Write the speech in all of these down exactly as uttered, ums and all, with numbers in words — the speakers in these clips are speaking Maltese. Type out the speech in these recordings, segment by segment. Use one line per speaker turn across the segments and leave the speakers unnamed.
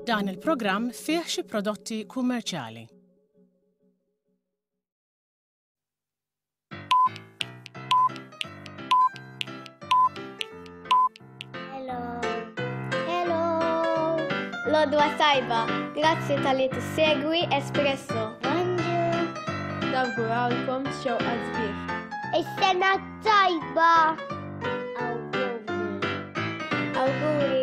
Dan il-programm fih xi prodotti kummerċjali.
Hello. Hello. L-għodwa t-tajba, grazzi talli tissegwi Espresso. Bonġu.
Nawgurawlkom xewqat sbieħ.
Is-sena tajba. Awguri. Awguri.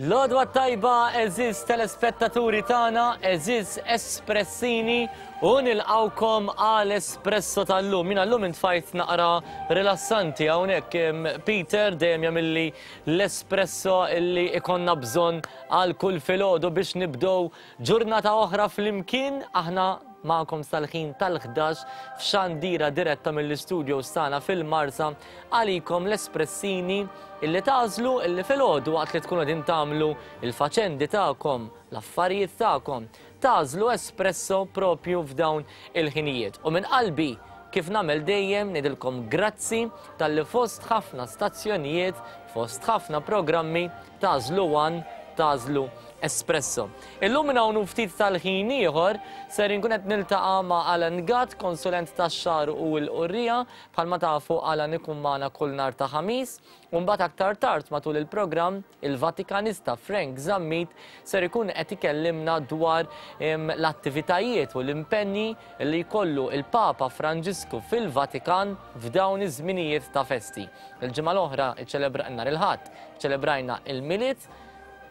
L-għodwa tajba, għeżież telespettaturi tagħna, għeżież espressini, u nilqawkom għal espresso tal-lum. Jiena llum intfajt naqra rilassanti hawnhekk. Peter dejjem jagħmilli l-espresso illi ikonna bżonn għal kull filgħodu biex nibdew ġurnata oħra flimkien. Aħna magħkom sal-ħin tal-ħdax f'xandira diretta mill-istudio tagħna fil-Marsa għalikom l-espressini illi tagħżlu illi filgħodu waqt li tkunu qegħdin tagħmlu il-faċendi tagħkom, l-affarijiet tagħkom, tagħżlu espresso propju f'dawn il-ħinijiet. U minn qalbi, kif nagħmel dejjem, ngħidilkom grazzi talli fost ħafna stazzjonijiet, fost ħafna programmi tagħżlu One, tagħżlu Espresso. Illum minn hawn ftit tal-ħin ieħor ser inkun qed niltaqa' ma' Alan Gatt, konsulent tax-xagħar u l-qurrija. Bħalma tafu Alan ikun magħna kull nhar ta' Ħamis. U mbagħad aktar tard matul il-programm il-Vatikanista Frank Zammit ser ikun qed ikellimna dwar l-attivitajiet u l-impenni li jkollu il-Papa Franġisku fil-Vatikan f'dawn iż-żminijiet ta' festi. Il-ġimgħa l-oħra ċċelebra nhar il-Ħadd, ċelebrajna il-Milied.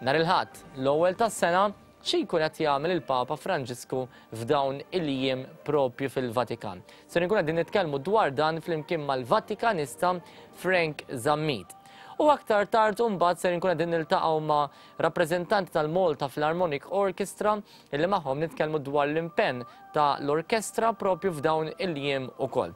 Nhar il-Ħadd, l-ewwel tas-sena, xi jkun qed jagħmel il-Papa Franġisku f'dawn il-jiem propju fil-Vatikan. Se nkun qegħdin nitkellmu dwar dan flimkien mal-Vatikanista Frank Zammit. U aktar tard imbagħad ser nkun qegħdin niltaqgħu ma' rappreżentanti tal-Malta Philharmonic Orchestra illi magħhom nitkellmu dwar l-impenn ta' l-orkestra propju f'dawn il-jiem ukoll.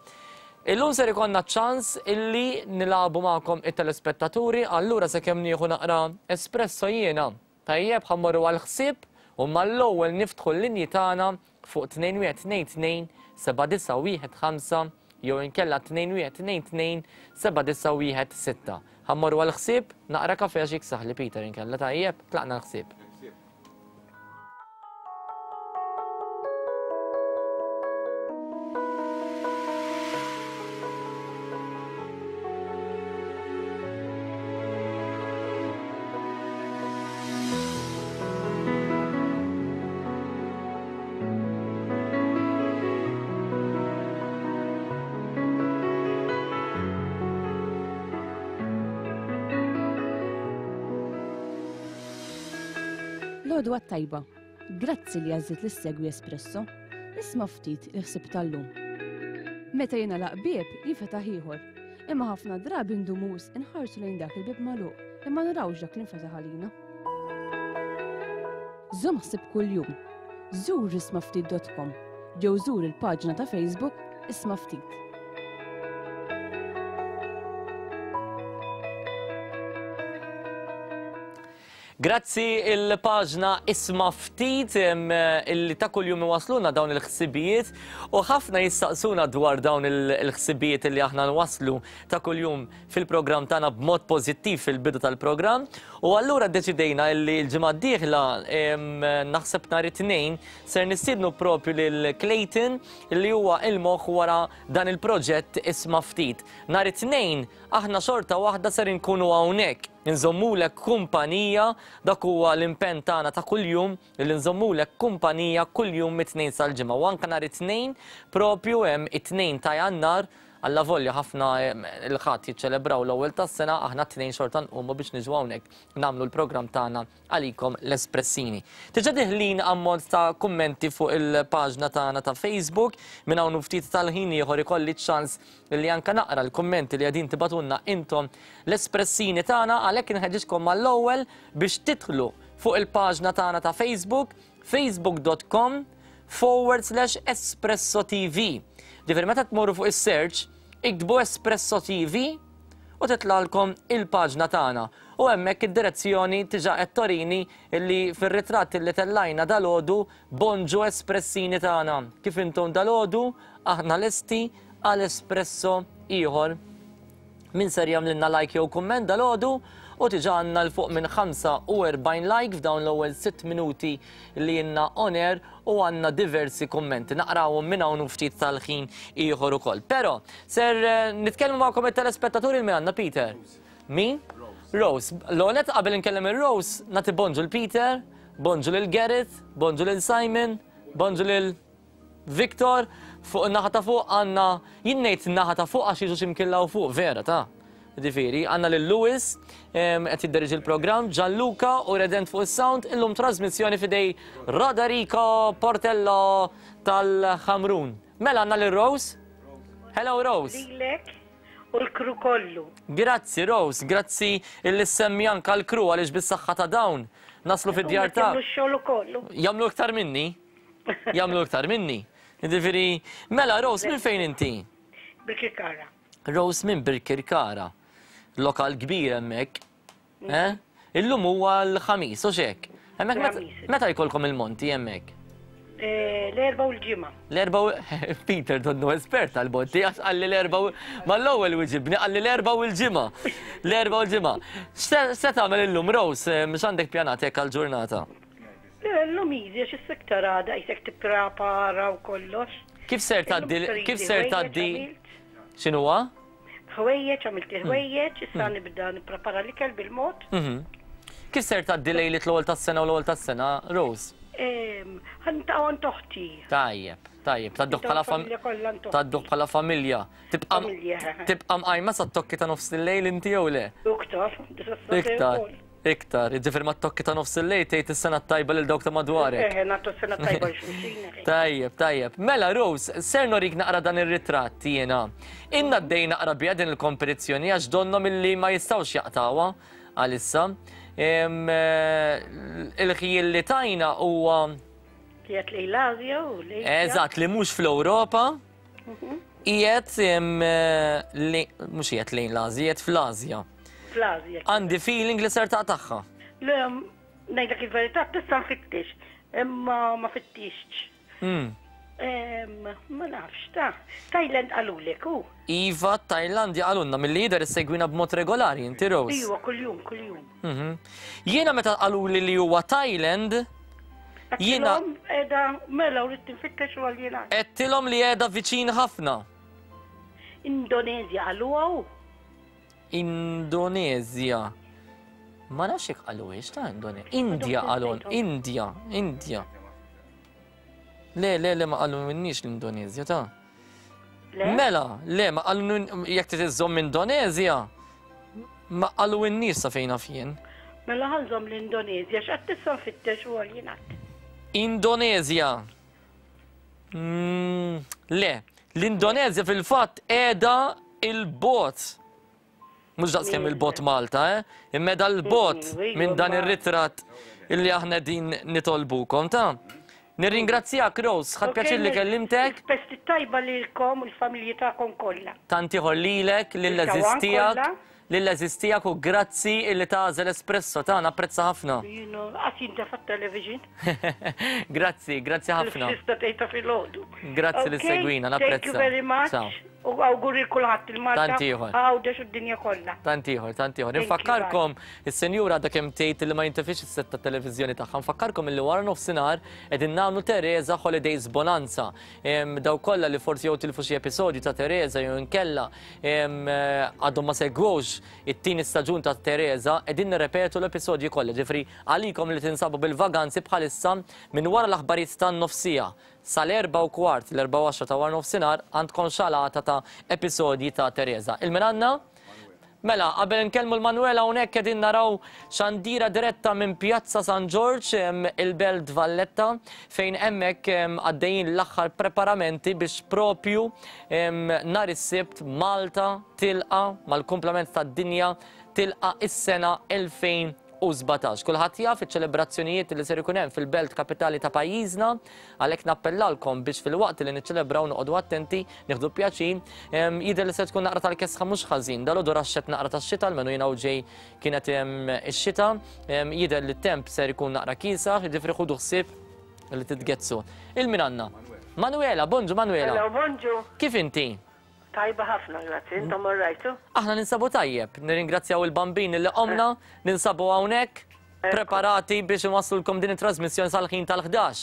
Illum ser ikonna ċans illi nilagħbu magħkom it-telespettaturi, allura sakemm nieħu naqra espresso jiena. Tajjeb, ħa mmorru għall-ħsieb u mal-ewwel niftħu l-linji tagħna fuq tnejn wieħed tnejn tnejn seba' disa' wieħed ħamsa jew inkella tnejn wieħed tnejn tnejn seba' disa' wieħed sitta. Ħa mmorru għall-ħsieb, naqra kafe għax jiksaħli Peter inkella, tajjeb, tlaqna l-ħsieb.
L-għodwa tajba, grazzi li għażilt li ssegwi Espresso. Isma' ftit il-ħsieb tal-lum. Meta jingħalaq bieb jinfetaħ ieħor, imma ħafna drabi ndumu wisq inħarsu lejn dak il-bieb magħluq imma narawx dak li nfetaħ għalina. Żomm ħsieb kuljum. Żur isma' ftit dot com jew żur il-paġna ta' Facebook Isma' Ftit.
Grazzi il-paġna Isma' Ftit illi ta' kuljum iwasluna dawn il-ħsibijiet u ħafna jistaqsuna dwar dawn il-ħsibijiet illi aħna nwasslu ta' kuljum fil-programm tagħna b'mod pożittiv fil-bidu tal-programm. U allura ddeċidejna illi l-ġimgħa d-dieħla naħseb nhar it-Tnejn ser nistiednu propju lil Clayton illi huwa il-moħħ wara dan il-proġett Isma' Ftit. Nhar it-Tnejn aħna xorta waħda ser inkunu hawnhekk. Nżommulek kumpanija, dak huwa l-impenn tagħna ta' kuljum li nżommulek kumpanija kuljum mit-tnejn sal-ġimgħa. U anke nhar it-tnejn propju hemm it-tnejn ta' Jannar, alla volja ħafna il-ħadd jiċċelebraw l-ewwel tas-sena, aħna t-tnejn xorta nqumu biex niġu hawnhekk nagħmlu l-programm tagħna għalikom l-Espressini. Diġà diħlin ammont ta' kummenti fuq il-paġna tagħna ta' Facebook, minn hawn ftit tal-ħin ieħor ikolli ċans li anke naqra l-kummenti li qegħdin tibgħatulna intom l-Espressini tagħna, għalhekk inħeġġiġkom mal-ewwel biex tidħlu fuq il-paġna tagħna ta' Facebook, facebook dot com forward slash Espresso T V. Ġifieri meta tmorru fuq is-search, iktbu Espresso T V u titlalkom il-paġna tagħna. U hemmhekk id-direzzjoni diġà qed torini li fir-ritratt li tellajna dalgħodu bonġu Espressini tagħna. Kif intom dalgħodu aħna lesti għal espresso ieħor. Min ser jagħmlilna like jew kumment dalgħodu u diġà għandna l fuq minn ħamsa u erbgħin like f'dawn l-ewwel sitt minuti li jenna on air u għandna diversi kummenti. Naqrawhom minn hawn u ftit tal-ħin ieħor ukoll. Però ser, eh, nitkellmu magħkom it-telespettaturi minn għandna Peter. Min? Rose. L-għonet qabel inkellem il-Rose, nagħti bonġu l-Peter, bonġu lil Gareth, bonġu lil Simon, bonġu lil Victor. Fuq in-naħa ta' fuq għandna, jien ngħid in-naħa ta' fuq għax jiġu xi mkien law fuq, vera ta'. Ġifieri, għandna lil Lewis, em, qed jidderieġi l-programm, Gianluca u Redent fuq is-sound, illum trasmissjoni fidej Roderico Portello tal-Ħamrun. Mela għandna lil Rose. Hello Rose.
Lilek u l-kru kollu.
Grazzi Rose, grazzi illi semmi anka l-kru għaliex bis-saħħa ta' dawn naslu fid-djar ta'
Jagħmlu x-xogħol ukoll.
Jagħmlu iktar minni. Jagħmlu iktar minni. Ġifieri, mela Rose, minn fejn inti?
Birkirkara.
Rose minn Birkirkara. Lokal kbir hemmhekk. Eh? Illum huwa l-ħamis, u x'hekk? Hemmhekk meta-
L-ħamis.
meta jkollkom il-monti hemmhekk?
Eh, l-erba' u l-ġimgħa.
L-erba' u Peter donnu espert tal-monti, għax qalli l-erba' u mal-ewwel wiġibni, qalli l-erba' u l-ġimgħa. L-erba' u l-ġimgħa. X'se-, x'se tagħmel illum, Rose? Eh, mhux għandek pjanat hekk għall-ġurnata?
Le, llum easy, għax is-sektar għada qisek tipprepara u kollox.
Kif ser tgħaddi
Illum
kif ser
ħwejjeġ
tgħaddi
għamilt.
X'inhuwa?
Ħwejjeġ, għamilt il-ħwejjeġ, issa nibda nipprepara l-ikel bil-mod.
Mhm. Kif ser tgħaddi lejliet l-ewwel tas-sena u l-ewwel tas-sena, Rose?
Ehm, ħantaqgħu għand oħti.
Tajjeb, tajjeb, tgħadduh bħala fam-
Familja kollha għand oħti.
tgħadduh bħala familja. Tibqa'
Familja.
tibqa' mqajma sa tokki ta' nofs il-lejl inti jew le?
Iktar,
Iktar, iktar. Jiġifieri ma tokki ta' nofs il-lejl tgħid is-sena t-tajba lil dawk ta' madwarek.
Eh, nagħtu s-sena tajba lil xulxin.
Tajjeb, tajjeb. Mela, Rose, ser norik naqra dan ir-ritratt jiena. Inna għaddej naqra biha din il-kompetizzjoni għax donnhom illi ma jistgħux jaqtawha għalissa. Em, eh, il-ħjiel li tajna huwa
Qiegħed lejn l-Asja u lejn
Eżatt, li mhux fl-Ewropa. Qiegħed, em, eh, li mhux qiegħed lejn l-Asja, qiegħed fl-Asja.
Fl-Asja.
Għandi feeling li ser taqtagħha.
Le, ngħidlek il-verità, tista' nfittix, imma ma fittixx.
Mm.
Em, ma nafx, ta' Thailand qalulek, u?
Iva, Thailandja qalulna mill-lider issegwina b'mod regolari, inti Rose.
Iva, kuljum, kuljum.
Mhm. Jiena meta qaluli li huwa Thailand, jiena
Għedtilhom qiegħda, mela u rrid tinfittex u għal jiena.
Għedtilhom li qiegħda viċin ħafna.
Indonezja qaluha u?
Indonezja. Ma nafx jekk qaluhiex ta' Indonezja. India qalul, India, India. Le, le, le, ma qalu minnix l-Indonezja, ta'
Le?
Mela, le, ma qalu jekk trid iżżomm Indonezja, ma qalu in-nies sa fejn naf jien.
Mela ħanżomm l-Indonezja, x'qed tista' nfittex u għal jingħad.
Indonezja. Mm, le, l-Indonezja fil-fatt qiegħda il-bot. Mhux daqskemm il-bot Malta, eh? Imma qiegħda l-bot
Mm, mm,
minn dan
ma-
ir-ritratt illi aħna din nitolbukom, ta' Nirringrazzjak, Rose, ħadt pjaċir li kellimtek.
Festi tajba lilkom u l-familji tagħkom kollha.
Tant ieħor lilek, lill-għeżież
Il-kawan
tiegħek,
kollha.
lill-għeżież tiegħek u grazzi illi tagħżel espresso tagħna, apprezza ħafna.
Jienu, qatt jintefa' t-television.
Grazzi, grazzi ħafna.
Il-festa tgħidha filgħodu.
Grazzi li
Okay,
segwina,
Thank you
napprezza.
very much.
Ciao.
U awguri kulħadd il-Malta.
Tant ieħor.
Għawdex u d-dinja kollha.
Tant ieħor, tant ieħor.
Thank you,
Infakkarkom, is-senjura għadha kemm tgħid li ma jintefix is-set tat-televiżjoni tagħha. Nfakkarkom illi wara nofsinhar qegħdin nagħmlu Teresa Holidays Bonanza. Em, daw kollha li forsi jew tilfu xi episodju ta' Teresa jew inkella, em, eh, għadhom ma segwux rajtux it-tieni staġun ta' Teresa, qegħdin nirrepetu l-episodji kollha, ġifri għalikom li tinsabu bil-vaganzi bħalissa minn wara l-aħbarijiet tan-nofsija sal-erba u kwart, l-erba u għaxra ta' wara nofsinhar għandkom xalata ta' episodji ta' Teresa. Il-min għandna? Mela, qabel nkellmu l-Manuela hawnhekk qegħdin naraw xandira diretta minn Pjazza San Ġorġ, il-Belt Valletta, fejn hemmhekk għaddejjin l-aħħar preparamenti biex propju nhar is-Sibt Malta tilqa mal-kumplament tad-dinja tilqa is-sena elfejn u sbatax. Kulħadd jaf iċ-ċelebrazzjonijiet li ser ikun hemm fil-belt kapitali ta' pajjiżna, għalhekk nappellalkom biex fil-waqt li niċċelebraw noqogħdu attenti, nieħdu pjaċir. Jidher li se tkun naqra tal-kesħa mhux ħażin, dalgħodu raxxet naqra tax-xita, almenu jiena u ġej kienet ix-xita, jidher li t-temp ser ikun naqra kiesaħ, jiġifieri ħudu ħsieb li titgezzu. Il-min għandna? Manuela, bonġu Manuela.
Hello, bonġu.
Kif inti?
Tajba ħafna, grazzi. Intom orrajtu?
Aħna ninsabu tajjeb, nirringrazzjaw il-bambin li qomna, ninsabu hawnhekk preparati biex inwasslulkom din it-trasmissjoni sal-ħin tal-ħdax.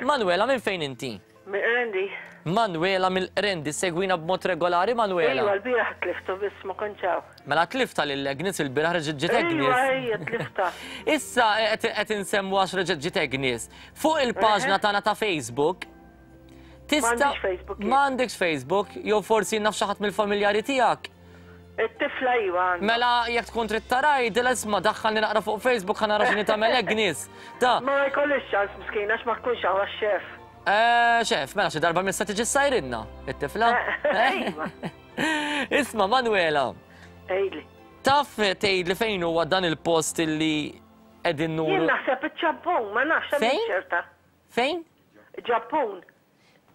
Manuela, minn fejn inti?
Mill-Qrendi.
Manuela mill-Qrendi, segwina b'mod regolari, Manuela?
Ejwa, l-bieraħ tliftu biss ma kontx hawn.
Mela tlifta lil Agnes il-bieraħ reġgħet ġiet Agnes.
Ejwa, ejja, tlifta.
Issa qed insemmu għax reġgħet ġiet Agnes. Fuq il-paġna tagħna ta' Facebook, tista' m'għandekx Facebook, jew forsi naf xi ħadd mill-familjari tiegħek.
It-tifla iva għandha.
Mela jekk tkun trid taraj, dil isma' daħħalni naqra fuq Facebook ħa nara x'inhi tagħmel Agnes. Ta.
Ma jkollix ċans miskina għax ma tkunx hawn għax-xef.
Eh, xef, mela xi darba missa tiġi ssajrinna, it-tifla.
Iva.
Isma' Manuela.
Għidli.
Taf tgħidli fejn huwa dan il-post illi qegħdin nuru?
Jien naħseb iċ-Ġappun, ma nafx hemm ċerta.
Fejn?
Ġappun.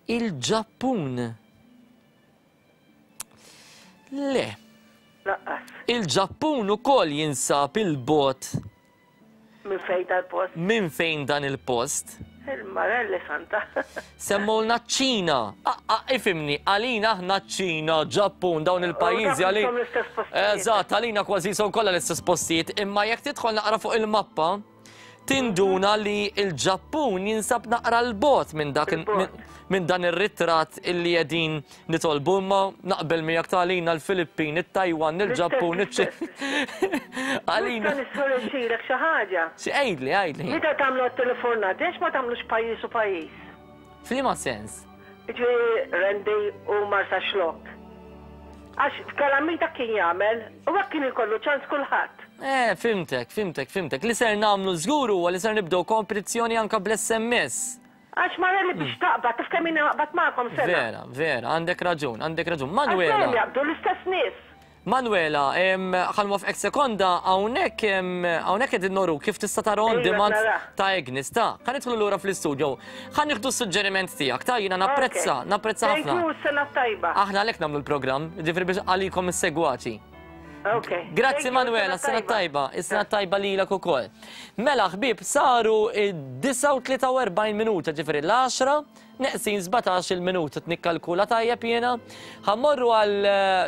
Il-Ġappun. Le.
Laqqas.
Il-Ġappun ukoll jinsab il-bot.
Minn fejn dal-post?
Minn fejn dan il-post?
Il-Marelli Santa.
Semmulna ċ-Ċina. Ifimni, għalina aħna ċ-Ċina, Ġappun, dawn il-pajjiżi għalina. Eżatt, għalina kważi son kollha l-istess postijiet, imma jekk tidħol naqra fuq il-mappa, tinduna li l-Ġappun jinsab naqra l-bot minn dak minn dan ir-ritratt illi qegħdin nitolbu, imma naqbel miegħek ta' għalina l-Filippin, it-Taiwan, il-Ġappun, iċ-Ċina. Għalina.
Nista' xi ħaġa.
Xi għidli, għidli.
Meta tagħmlu t-telefonat, għax ma tagħmlux pajjiż u pajjiż?
F'liema sens?
Jiġifieri Rendi u Marsaxlokk. Għax f'Kalamita kien jagħmel u hekk kien ikollu ċans kulħadd.
Eh, fimtek, fimtek, fimtek. Li ser nagħmlu żgur huwa li ser nibdew kompetizzjoni anke bl-S M S.
Għax Marelli biex taqbad, taf kemm naqbad magħkom sena.
Vera, vera, għandek raġun, għandek raġun. Manuela.
Għax jaqbdu l-istess nies.
Manuela, ħa nwafqek sekonda, hawnhekk hawnhekk qegħdin noru kif tista' tara on demand ta' Agnes, ta' ħa nidħlu lura fl-istudio. Ħa nieħdu s-suġġeriment tiegħek, ta' jiena napprezza, napprezza ħafna.
Thank you, sena tajba.
Aħna għalhekk nagħmlu l-programm, ġifieri biex għalikom is-segwaċi. Grazzi Manuela, sena tajba, is-sena tajba lilek ukoll. Mela ħbieb, saru id-disgħa u tlieta u erbgħin minuta, ġifieri l-għaxra neqsin sbatax il-minuta, tnikkalkula tajjeb jiena. Ħammorru għal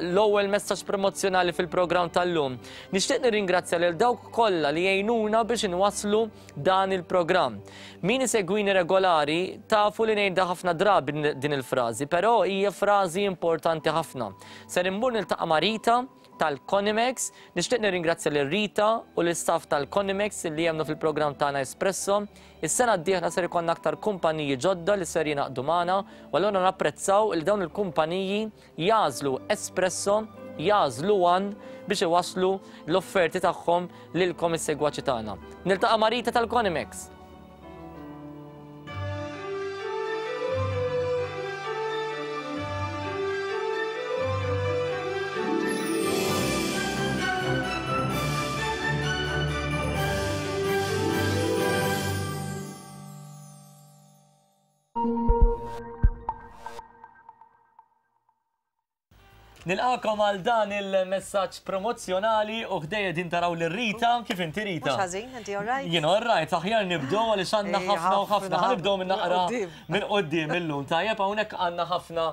l-ewwel messaġġ promozzjonali fil-programm tal-lum. Nixtieq nirringrazzja lil dawk kollha li jgħinuna biex inwasslu dan il-programm. Min isegwini regolari tafu li ngħidha ħafna drabi din il-frażi, però hija frażi importanti ħafna. Ser immur niltaqa' ma' Rita tal-Conimex. Nixtieq nirringrazzja lil Rita u l-istaff tal-Conimex li jemnu fil-programm tagħna Espresso. Is-sena d-dieħla ser ikollna aktar kumpaniji ġodda li ser jingħaqdu magħna, u allura napprezzaw li dawn il-kumpaniji jażlu Espresso, jażlu One biex iwasslu l-offerti tagħhom lilkom is-segwaċi tagħna. Niltaqa' ma' Rita tal-Conimex. Nilqakom għal dan il-messaġġ promozzjonali u ħdejja din taraw lil Rita. Kif inti Rita?
Mhux ħażin, inti all right?
Jien all right, aħjar nibdew għaliex għandna ħafna u ħafna. Ħa nibdew minn naqra minn quddiem illum. Tajjeb hawnhekk għandna ħafna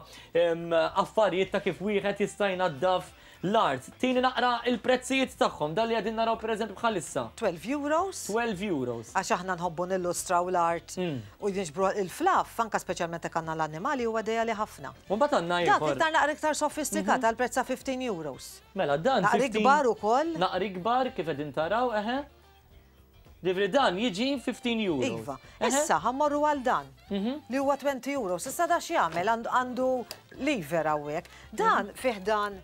affarijiet ta' kif wieħed jista' jnaddaf l-art. Tini naqra il-prezzijiet tagħhom, dan li qegħdin naraw pereżempju bħalissa.
twelve euros.
twelve euros.
Għax aħna nħobbu nillustraw l-art u jinġbru il-fluff, anka speċjalment jekk għandna l-annimali huwa dejali ħafna.
U mbagħad għandna
Dak
ieħor.
iktar naqra iktar sofistikat għal prezz ta' fifteen euros.
Mela dan
Naqra kbar ukoll.
Naqra kbar kif qegħdin taraw, eħe. Ġifieri dan jiġi fifteen euros.
Iva. Issa ħammorru għal dan li huwa twenty euros. Issa da x'jagħmel għandu lever hawnhekk. Dan fih dan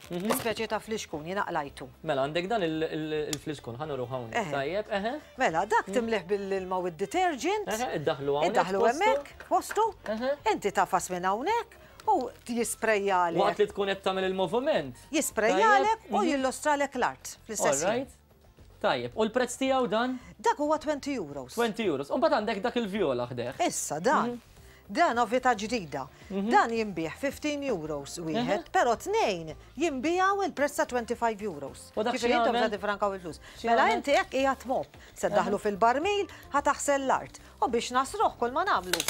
speċi ta' flixkun jiena qlajtu.
Mela għandek dan il-flixkun ħa nuru hawnhekk. Tajjeb, eħe.
Mela dak timlih bil-ilma u d-detergent.
Eħe, iddaħlu hawnhekk.
Iddaħlu hemmhekk postu. Inti tafas minn hawnhekk u jisprejjalek.
Waqt li tkun qed tagħmel il-moviment.
Jisprejjalek u jillustralek l-art fl-istess ħin.
Tajjeb, u l-prezz tiegħu dan?
Dak huwa twenty euros.
twenty euros. U mbagħad għandek dak il-vjola ħdeh.
Issa dan. Dan novità ġdida. Dan jinbih fifteen euros wieħed, però tnejn jinbijaw il-prezz ta' twenty-five euros.
U dak
Ġifieri intom
x'jagħmel?
se tifrankaw il-flus. Mela inti hekk qiegħed mop, se ddaħlu fil-barmil, ħa taħsel l-art. U biex nasruh kull ma nagħmlu.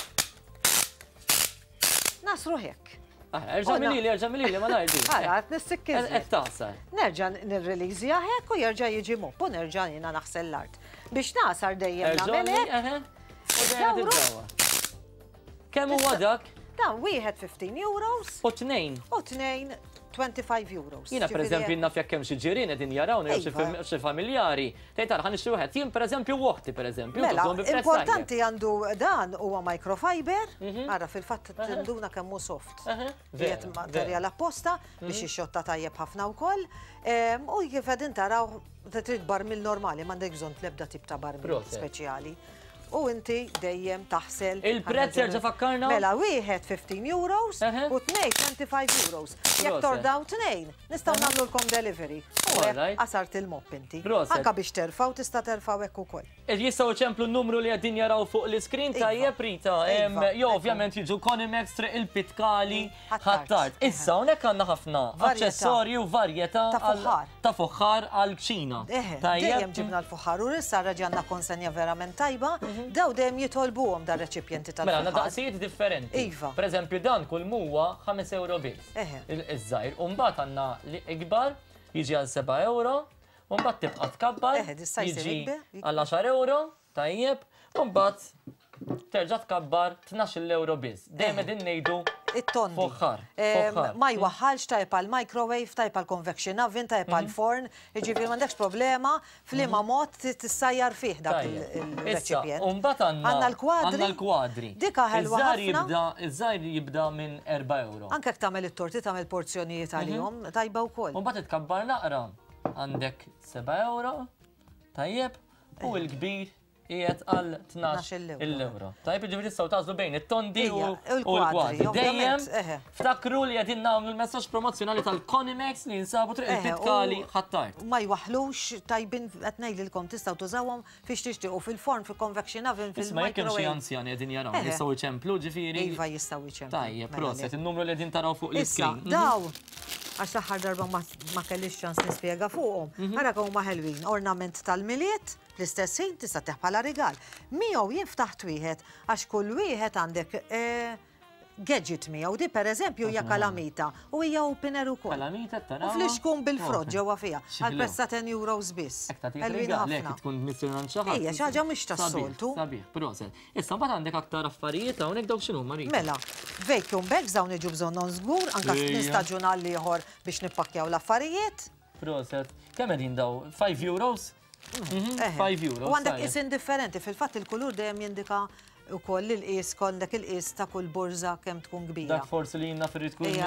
Nasruh hekk.
Erġa' milili, erġa' milili, ma ngħidx.
Ara, qed nissikkiżli.
Qed tagħsar.
Nerġa' nirreleasja hekk u jerġa' jiġi mop u nerġa' jiena naħsel l-art. Biex nasar dejjem nagħmel hekk.
U dejjem tiddawwar. Kemm huwa dak?
Dan wieħed fifteen euros.
U tnejn.
U tnejn twenty-five euros.
Jiena pereżempju naf jekk hemm xi ġirien qegħdin jarawna jew xi familjari. Tgħid ara ħa nixtri wieħed. Jien pereżempju oħti pereżempju.
Mela,
tużhom bi prezz
importanti
tajjeb.
għandu dan huwa microfiber, ara fil-fatt tinduna kemm hu soft. Qiegħed materjal apposta biex ixxotta tajjeb ħafna wkoll. U kif qegħdin taraw trid barmil normali, m'għandek bżonn l-ebda tip ta' barmil speċjali. U inti dejjem taħsel.
Il-prezz jerġa' fakkarna?
Mela wieħed fifteen euros u tnejn twenty-five euros. Jekk tordaw tnejn, nistgħu nagħmlulkom delivery. U hekk qasart il-mop inti. Anka biex terfgħu tista' terfgħu hekk ukoll.
Jistgħu ċemplu n-numru li qegħdin jaraw fuq l-iskrin tajjeb Rita. Jew ovvjament jiġu Conimex Triq il-Pitkali Ħ'Attard. Issa hawnhekk għandna ħafna aċċessorji u varjetà
ta' fuħħar.
Ta' fuħħar għall-kċina.
Dejjem ġibna l-fuħħar u issa reġgħanna konsenja verament tajba. Daw dejjem jitolbuhom dar reċipjenti tal-fuħħar.
Mela għandna daqsijiet differenti.
Iva.
Pereżempju dan kull huwa ħames euro biss. Iż-żgħir. U mbagħad għandna li ikbar jiġi għal seba' euro, u mbagħad tibqa' tkabbar jiġi għal għaxar euro, tajjeb, u mbagħad terġa' tkabbar tnax-il euro biss. Dejjem qegħdin ngħidu
it-tondi.
Fuħħar.
Ma jwaħħalx tajjeb għal microwave, tajjeb għal convection oven, tajjeb għal forn, jiġifieri m'għandekx problema f'liema mod tissajjar fih dak il-reċipjent.
U mbagħad
għandna l-kwadri.
Għandna l-kwadri.
Dik ħelwa ħafna.
Iż-żgħir jibda minn erba' euro.
Anke jekk tagħmel it-torti tagħmel porzjonijiet għalihom, tajba wkoll.
U mbagħad tkabbar naqra. Għandek seba' euro, tajjeb, u l-kbir qiegħed għal tnax il-euro. Tajjeb, jiġifieri tistgħu tagħżlu bejn it-tondi u l-kwadri. Dejjem ftakru li qegħdin nagħmlu l-messaġġ promozzjonali tal-Conimex li jinsabu Triq il-Pitkali Ħ'Attard.
Ma jwaħħlux tajbin qed ngħidilkom tistgħu tużawhom fiex tixtiequ fil-forn, fil-convection oven, fil-microwave.
Isma' jekk hemm xi anzjani qegħdin jaraw jistgħu jċemplu ġifieri.
Iva jistgħu jċemplu.
Tajjeb, proset, in-numru li qegħdin taraw fuq l-iskrin.
Issa, daw għax l-aħħar darba ma kellix ċans nispjega fuqhom. Ara kemm huma ħelwin, ornament tal-Milied, fl-istess ħin tista' teħ bħala rigal. Miegħu jien ftaħt wieħed għax kull wieħed għandek gadget miegħu. Di pereżempju hija kalamita u hija opener ukoll.
Kalamita taraw.
U flixkun bil-frott ġewwa fiha għal prezz ta' ten euros biss.
Ħelwin ħafna. Tkun missirna xi ħadd.
Ejja, xi ħaġa mhux tas-soltu.
Sabiħ, proset. Issa mbagħad għandek aktar affarijiet hawnhekk dawk x'inhu Marita?
Mela, vacuum bags dawn iġu bżonnhom żgur, anke minn staġun għal ieħor biex nippakkjaw l-affarijiet.
Proset. Kemm qegħdin daw? five euros? five euros.
U għandek isin differenti, fil-fatt il-kulur dejjem jindika ukoll il-qis għandek il-qis ta' kull borża kemm tkun kbira.
Dak forsi li jiena firrid tkun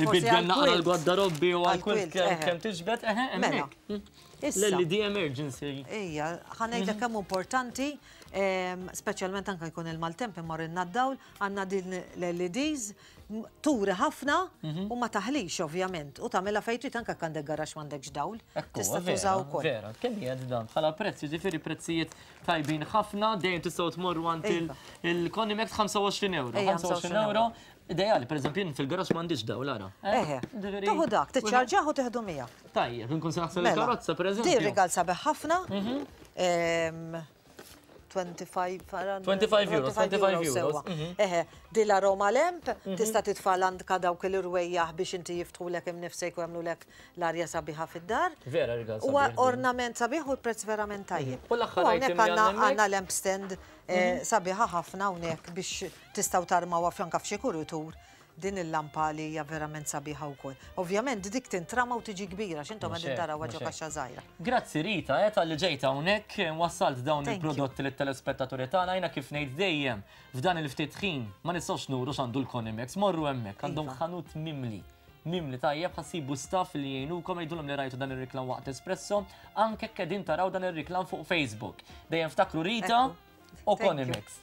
ibiddel naqra l-gwardarobbi u għall-kwilt kemm tiġbed, eħe, hemmhekk. L-L E D emergency.
Ejja, ħa ngħidlek kemm importanti, speċjalment anke jkun il-maltemp immorr d-dawl, għandna din l-L E Ds turi ħafna u ma taħlix ovvjament. U tagħmilha fejn trid anke għandek garax m'għandekx dawl. Tista' tużaw ukoll.
Vera, kemm hija dan bħala prezz, jiġifieri prezzijiet tajbin ħafna, dejjem tistgħu tmorru għand il-Conimex ħamsa u għoxrin euro. ħamsa u għoxrin euro. Ideali, per eżempju, fil-garax m'għandix dawl ara.
Eħe, tieħu dak, tiċċarġaħ u teħdu miegħek.
Tajjeb, inkun se naħsel il-karozza, per eżempju.
Din rigal sabiħ ħafna.
twenty-five euros, twenty-five euros.
Eħe, di l-aroma lamp, tista' titfa' għandka dawk il-rwejjaħ biex inti jiftħulek imnifsejk u jagħmlulek l-arja sabiħa fid-dar.
Vera rigal
Huwa
sabiħ.
ornament sabiħ u l-prezz verament tajjeb.
U l-aħħar
U hawnhekk
item li
għandna
għandna
għandna lamp stand eh, sabiħa ħafna hawnhekk biex tistgħu tarmawha f'anka f'xi kuritur din il-lampa li hija verament sabiħa wkoll. Ovvjament dik tintrama u tiġi kbira, x'intom
Mhux
qegħdin
hekk,
taraw
mhux
ġo
hekk.
kaxxa żgħira.
Grazzi Rita, eh, tal-li ġejta hawnhekk wassalt dawn
Thank you.
il-prodotti lit-telespettaturi tagħna. Jiena kif ngħid dejjem f'dan il-ftit ħin ma nistgħux nuru x'għandu l-Conimex, morru hemmhekk, għandhom
Iva.
ħanut mimli. Mimli tajjeb, ħa ssibu staff li jgħinukom, jgħidulhom li rajtu dan ir-riklam waqt Espresso, anke qegħdin taraw dan ir-riklam fuq Facebook. Dejjem ftakru Rita
Ekku.
u
Thank you.
Conimex.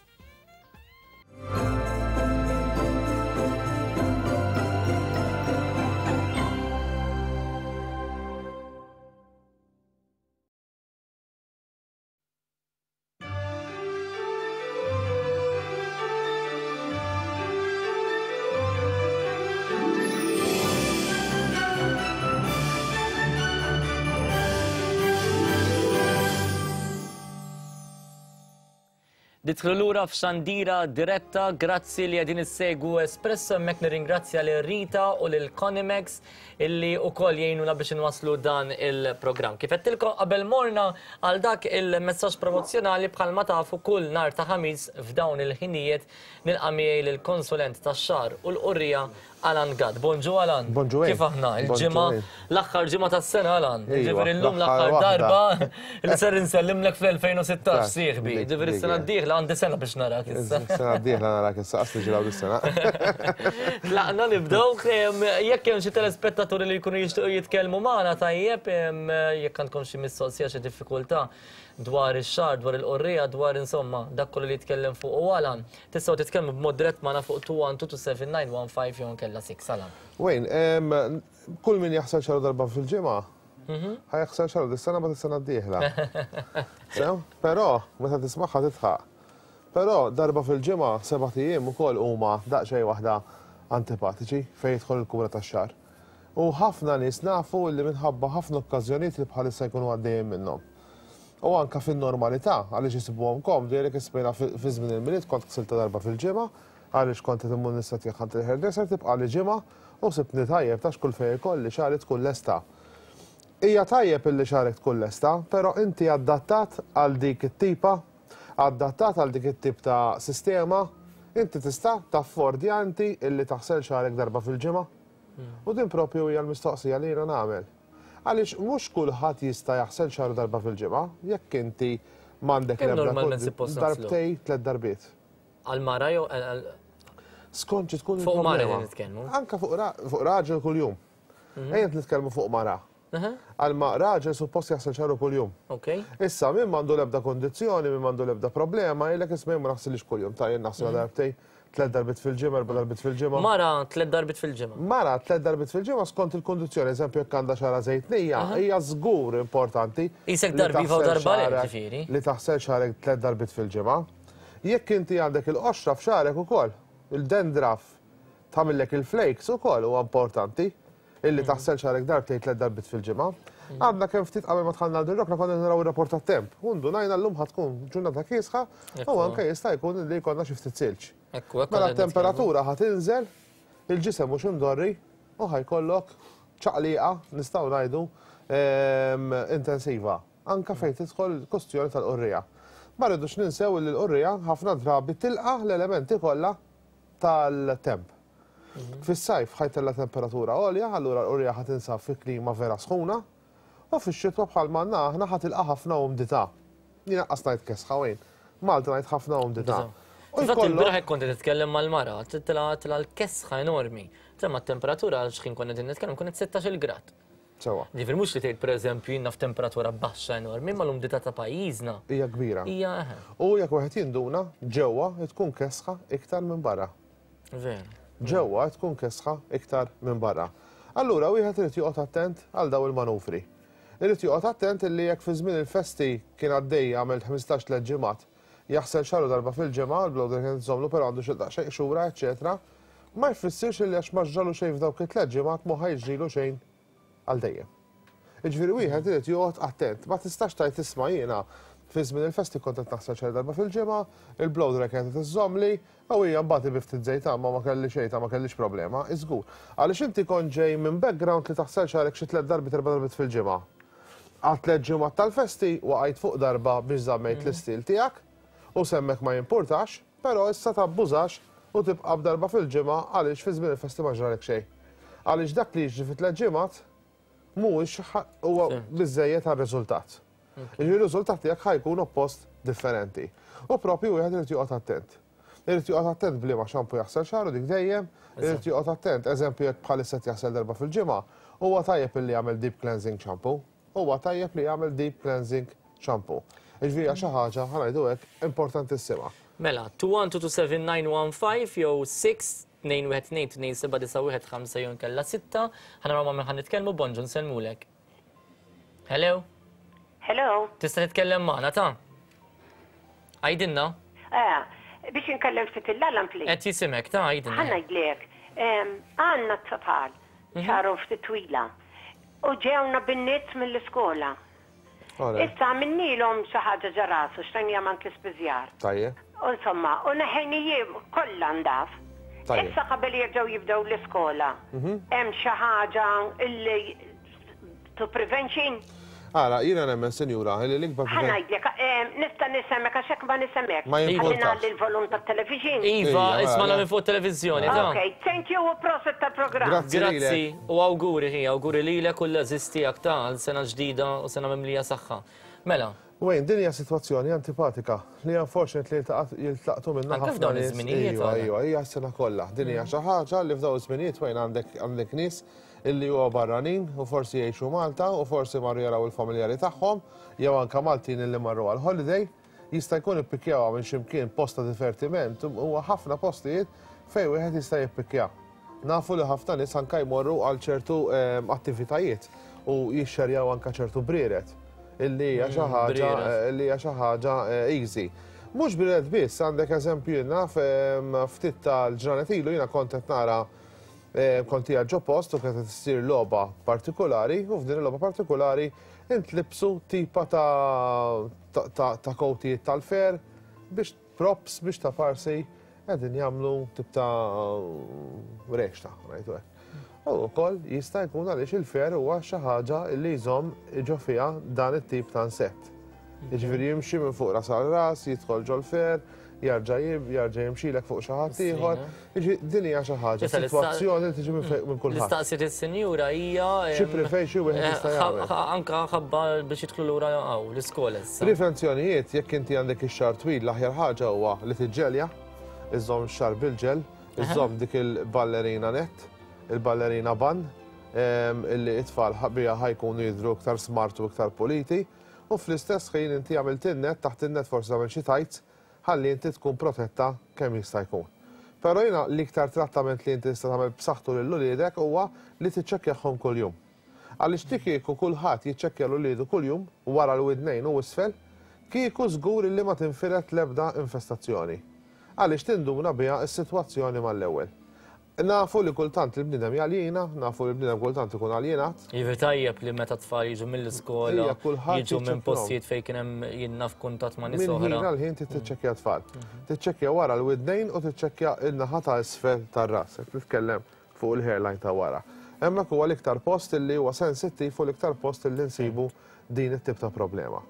Nidħlu lura f'xandira diretta, grazzi li qegħdin issegwu Espresso, hemmhekk nirringrazzja lil Rita u lil Conimex illi wkoll jgħinuna biex inwasslu dan il-programm. Kif għedtilkom qabel morna għal dak il-messaġġ promozzjonali, bħalma tafu kull nhar ta' Ħamis f'dawn il-ħinijiet nilqa' miegħi lill-konsulent tax-xagħar u l-qorrija Alan Gatt. Bonġu Alan.
Bonġu.
Kif aħna? Il-ġimgħa, l-aħħar ġimgħa tas-sena Alan.
Ejwa,
Ġifieri llum
l-aħħar
l-aħħar darba
waħda.
li ser insellimlek fl-elfejn u sittax sieħbi.
Dik,
Ġifieri
dik,
s-sena
eh.
d-dieħla għandi sena biex narak issa.
Sena d-dieħla narak issa, qas ġiraw dis-sena.
Tlaqna nibdew, em, jekk hemm xi telespettaturi li jkunu jixtiequ jitkellmu magħna tajjeb, em, jekk għandkom xi mistoqsija, xi diffikultà dwar ix-xagħar, dwar il-qorrija, dwar insomma dak kollu li jitkellem fuq u Alan, tistgħu titkellmu b'mod dirett magħna fuq two one two two seven nine one five jew nkella six Alan.
Wayne, em, kull min jaħsel xagħru darba fil-ġimgħa, ħa jaħsel xagħru dis-sena ma s-sena d-dieħla. Sew? Però, meta tismagħha titħaq. Però darba fil-ġimgħa sebat ijiem ukoll huma daqsxejn waħda antipatiċi fejn jidħol il-kura tax-xagħar. U ħafna nies nafu li minħabba ħafna okkażjonijiet li bħalissa jkunu għaddejjin minnhom. U anka fin-normalità, għaliex jisibuhom komdu, jgħidlek ismejna fi żmien il-Milied kont ħsilta darba fil-ġimgħa, għaliex kont qed immur nistgħat għand il-hairdresser tibqa' li ġimgħa u sibni tajjeb tax kull fejn ikolli xagħri tkun lesta. Hija tajjeb illi xagħrek tkun lesta, però inti adattat għal dik it-tipa, adattat għal dik it-tip ta' sistema, inti tista' taffordja inti illi taħsel xagħrek darba fil-ġimgħa. U din propju hija l-mistoqsija li jiena nagħmel. Għaliex mhux kulħadd jista' jaħsel xagħru darba fil-ġimgħa, jekk inti m'għandek
Kemm
l-ebda
normalment
kod-
suppost naħslu?
Darbtej, tliet darbiet.
Għal mara jew għal
Skont xi tkun
Fuq mara
il-problema.
qegħdin nitkellmu.
Anka fuq ra- fuq raġel kuljum. Ejja nitkellmu fuq mara.
Aha,
Għal ma raġel suppost jaħsel xagħru kuljum.
Ok.
Issa, min m'għandu l-ebda kondizzjoni, min m'għandu l-ebda problema, jgħidlek isma' jien ma naħsilix kuljum, ta' jien naħsilha darbtej, tliet darbiet fil-ġimgħa, erba' darbiet fil-ġimgħa.
Mara tliet darbiet fil-ġimgħa.
Mara tliet darbiet fil-ġimgħa skont il-kondizzjoni, eżempju jekk għandha xagħra żejtnija, hija żgur importanti.
Isek
li
darba iva u
taħsel
darba le,
xagħrek-
ġifieri.
Li taħsel xagħrek tliet darbiet fil-ġimgħa. Jekk inti għandek il-qoxra f'xagħrek ukoll, il-dandruff tagħmillek il-flakes ukoll huwa importanti illi taħsel xagħrek darbtejn tliet darbiet fil-ġimgħa. Għadna kemm ftit qabel ma dħalna għal rokna konna naraw ir-rapport tat-temp. U ndunajna llum ħa tkun ġurnata kiesħa u
Ekku.
anke jista' jkun li jkollna xi ftit silġ.
Ekku, ekku.
Mela
qegħdin nitkellmu.
t-temperatura ħa tinżel, il-ġisem mhux imdorri u ħa jkollok ċaqliqa nistgħu ngħidu ehm, intensiva. Anka fejn tidħol kustjoni tal-qorrija. Ma rridux ninsew li l-qorrija ħafna drabi tilqa l-elementi kollha tal-temp. Fis-sajf ħa jtella' temperatura għolja, allura l-qorrija ħa tinsab fi klima vera sħuna, u fix-xitwa bħal manna aħna ħa tilqa ħafna umdità. Jiena qas ngħid kesħa wejn. Malta ngħid ħafna umdità. U
Infatti
jkollok-
il-bieraħ hekk kont qed titkellem mal-mara, titla tila l-kesħa enormi. Temma t-temperatura għal x'ħin konna qegħdin nitkellem kienet sittax-il grad.
Sewa.
Ġifieri mhux li tgħid pereżempju jiena f'temperatura baxxa enormi, ma l-umdità ta' pajjiżna
Hija kbira.
hija eħe.
U jekk wieħed jinduna, ġewwa tkun kesħa iktar minn barra.
Veru.
Ġewwa tkun kesħa iktar minn barra. Allura wieħed irid joqgħod attent għal daw il-manufri. Irid joqgħod attent illi jekk fi żmien il-festi kien għaddej għamel ħmistax tliet ġimgħat, jaħsel xagħru darba fil-ġimgħa, l-blowdry kien żomlu però għandu xi daqsxejn xura, eċetera, ma jfissirx illi għax ma ġralu xejn f'dawk it-tliet ġimgħat mhu ħa jiġrilu xejn għal dejjem. Jiġifieri wieħed irid joqgħod attent, ma tistax tgħid isma' jiena Fi żmien il-festi kont qed naħsel xagħri darba fil-ġimgħa, il-blow dry kienet iżżommli, u hija mbagħad bi ftit żejt ma ma kelli xejn ma kellix problema, iżgur. Għaliex inti kont ġej minn background li taħsel xagħrek xi tliet darbiet erba' darbiet fil-ġimgħa. Għal tliet ġimgħat tal-festi waqajt fuq darba biex żammejt l-istil tiegħek u semmek ma jimpurtax, però issa tabbużax u tibqa' b'darba fil-ġimgħa għaliex fi żmien il-festi ma ġralek xejn. Għaliex dak li jiġri fi tliet ġimgħat mhuwiex huwa biżejjed għar-riżultat. Il-riżultat tiegħek ħa jkun oppost differenti. U propju wieħed irid joqgħod attent. Irid joqgħod attent b'liema xampu jaħsel xagħru dik dejjem, irid joqgħod attent, eżempju jekk bħalissa jaħsel darba fil-ġimgħa, huwa tajjeb illi jagħmel deep cleansing shampoo, huwa tajjeb li jagħmel deep cleansing shampoo. Jiġifieri xi ħaġa ħa ngħidu hekk importantissima.
Mela, two one two two seven nine one five jew six tnejn wieħed tnejn tnejn seba' disa' wieħed ħamsa jew inkella sitta, ħa naraw ma' min ħa nitkellmu, bonġu nsellmulek. Hello?
Hello?
Tista' titkellem magħna ta'? Għidilna?
Eh, biex inkellem ftit il-alarm, please.
Qed jisimek ta' għidilna.
Ħa ngħidlek, għandna t-tfal, xagħarhom ftit twila, u ġewna bin-nits mill-iskola. Issa għamilnielhom xi ħaġa ġo rasu, xtajnija mant l-ispiżjar.
Tajjeb.
Insomma, u neħejnijiem kollha ndaf. Issa qabel jerġgħu jibdew l-iskola. Hemm xi ħaġa illi to prevention?
Ara, jiena nemmen, sinjura, li l-ikbar
Ħa ngħidlek, nista' nisemmek għax hekk ma nisemmek.
Ma jimpurtax.
Ħalli ngħalli l-volum tat-television.
Iva, isma' minn fuq televiżjoni.
Ok, thank you u prosit tal-programm.
Grazzi.
Grazzi u awguri ħi, awguri lilek u l-għażiż tiegħek ta' għal sena ġdida u sena mimlija saħħa. Mela.
Wayne, din hija sitwazzjoni antipatika li unfortunately jiltaqtu minna
Anke
ħafna
f'dawn
nies.
iż-żminijiet,
Iva,
għala.
iva, hija s-sena kollha. Din hija xi ħaġa li f'dawn iż-żminijiet Wayne għandek għandek nies illi huwa barranin u forsi jgħixu Malta u forsi marru jaraw il-familjari tagħhom jew anke Maltin illi marru għal holiday, jista' jkun ippikjawha minn x'imkien post ta' divertiment, huwa ħafna postijiet fejn wieħed jista' jippikja. Nafu li ħafna nies anke jmorru għal ċertu ehm, attivitajiet u jixxerjaw anke ċertu brieret illi hija xi ħaġa
brieret.
illi hija xi ħaġa eh, easy. Mhux brieret biss, għandek eżempju naf ehm, ftit tal-ġranet ilu jiena kont qed nara eh, kont qiegħed ġo post u kienet qed issir logħba partikolari u f'din il-logħba partikolari intlibsu tipa ta' ta' ta' ta' kowtijiet tal-fer biex props biex ta' farsi qegħdin jagħmlu tip ta' rexta, ngħidu hekk. U wkoll jista' jkun għaliex il-fer huwa xi ħaġa li jżomm ġo fiha dan it-tip ta' insett. Jiġifieri jimxi minn fuq ras għal ras, jidħol ġol-fer, jarġa' jib, jarġa' jimxilek fuq xi ħadd ieħor. Jiġifieri din hija xi ħaġa,
Issa l-ista-
sitwazzjoni li tiġi minn fejn- minn kulħadd.
L-istaqsiet is-sinjura hija
Xi
em,
preferixxi wieħed jista'
eh,
jagħmel.
ħa- Anka ħabba biex jidħlu lura hawn l-iskola issa.
Prevenzjonijiet, jekk inti għandek ix-xagħar twil, l-aħjar ħaġa huwa li tiġġelja, iżżomm ix-xagħar bil-ġel, iżżomm dik il-ballerina net, il-ballerina bun, em, illi it-tfal bija ħa jkunu jidhru iktar smart u iktar puliti, u fl-istess ħin inti għamilt in-net, taħt in-net forsi tagħmel xi tights, ħalli inti tkun protetta kemm jista' jkun. Però jiena l-iktar trattament li inti tista' tagħmel b'saħħtu lil uliedek huwa li tiċċekkjahom kuljum. Għaliex ti kieku kulħadd jiċċekkja l uliedu kuljum wara l-widnejn u isfel, kieku żgur li ma tinfiret l-ebda infestazzjoni. Għaliex tinduna biha s-sitwazzjoni mal-ewwel. Nafu li kultant il-bniedem jaljina, nafu li l-bniedem kultant ikun aljenat.
Jiġifieri tajjeb li meta tfal jiġu mill-iskola,
Ija, kulħadd
jiġu minn
jiċċekkjahom.
postijiet fejn kien hemm jinnna f'kuntatt ma' nies
Minn ħin
oħra.
għal ħin tiċċekkja tfal. Tiċċekkja wara l-widnejn u tiċċekkja il-naħa ta' isfel tar-ras, qed nitkellem fuq il-hairline ta' wara. Hemmhekk huwa l-iktar post illi huwa sensittiv u l-iktar post illi nsibu din it-tip ta' problema.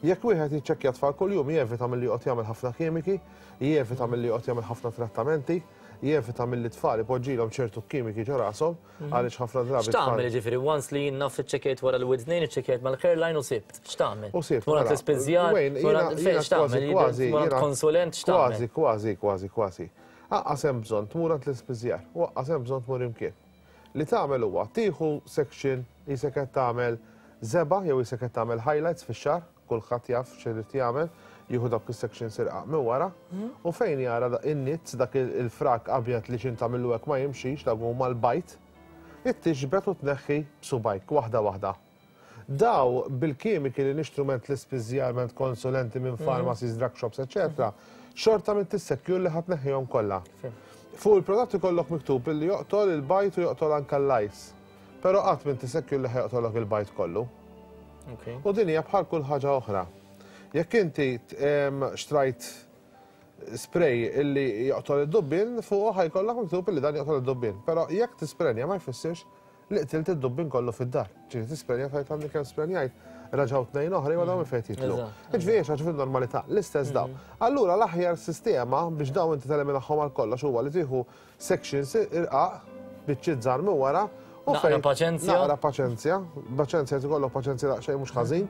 Jekk wieħed jiċċekkja tfal kuljum jevita milli joqgħod jagħmel ħafna kimiki, jevita milli joqgħod jagħmel ħafna trattamenti, jevita milli tfal ipoġġilhom ċertu kimiki ġo rashom għaliex ħafna drabi
X'tagħmel
tfal-
jiġifieri once li jien naf iċċekkjajt wara l-widnejn, iċċekkjajt mal-hairline u sibt. X'tagħmel?
U sibt,
Tmur għand
mela,
l-ispiżjar,
Wayne,
tmur
jiena-
għand- fejn
jiena
x'tagħmel?
kważi, kważi,
Tmur għand
jiena-
konsulent x'tagħmel?
Kważi, kważi, kważi, kważi. Aqqas hemm bżonn tmur għand l-ispiżjar, u aqqas hemm bżonn tmur imkien. Li tagħmel huwa tieħu section qisek qed tagħmel żebgħa jew qisek qed tagħmel highlights fix-xagħar, kulħadd jaf x'irid jagħmel, jieħu dawk is-sections irqaq minn wara, u fejn jara da- in-nits dak il- il-frak abjad li x'int tagħmillu hekk ma jimxix, dak huma l-bajd, it-tixbet u tneħħi b'subajk waħda waħda. Daw bil-kimiki li nixtru ment l-ispiżjar, ment konsulenti minn pharmacies, drug shops, eccetera, xorta minn tissekjur li ħa tneħħihom kollha. Fuq il-prodott ikollok miktub illi joqtol il-bajd u joqtol anka l-lice. Però qatt minn tissekjur li ħa joqtolok il-bajd kollu.
Okay.
U din hija bħal kull ħaġa oħra. Jekk inti xtrajt spray illi joqtol id-dubbien, fuq ħa jkollok miktub illi dan joqtol id-dubbien. Però jekk tisprenja ma jfissirx li qtilt id-dubbien kollu fid-dar. Ġifieri tisprenja tgħid għandi kemm sprenjajt, raġgħu tnejn oħra jew dawn fejn jitlu. Ġifieri xi fil-normalità, l-istess dawn. Allura l-aħjar sistema biex dawn inti teliminahom għal kollox huwa li tieħu sections irqaq biċċiet żgħar minn wara u
naqra paċenzja.
Naqra paċenzja, paċenzja tikollok paċenzja daqsxejn mhux ħażin.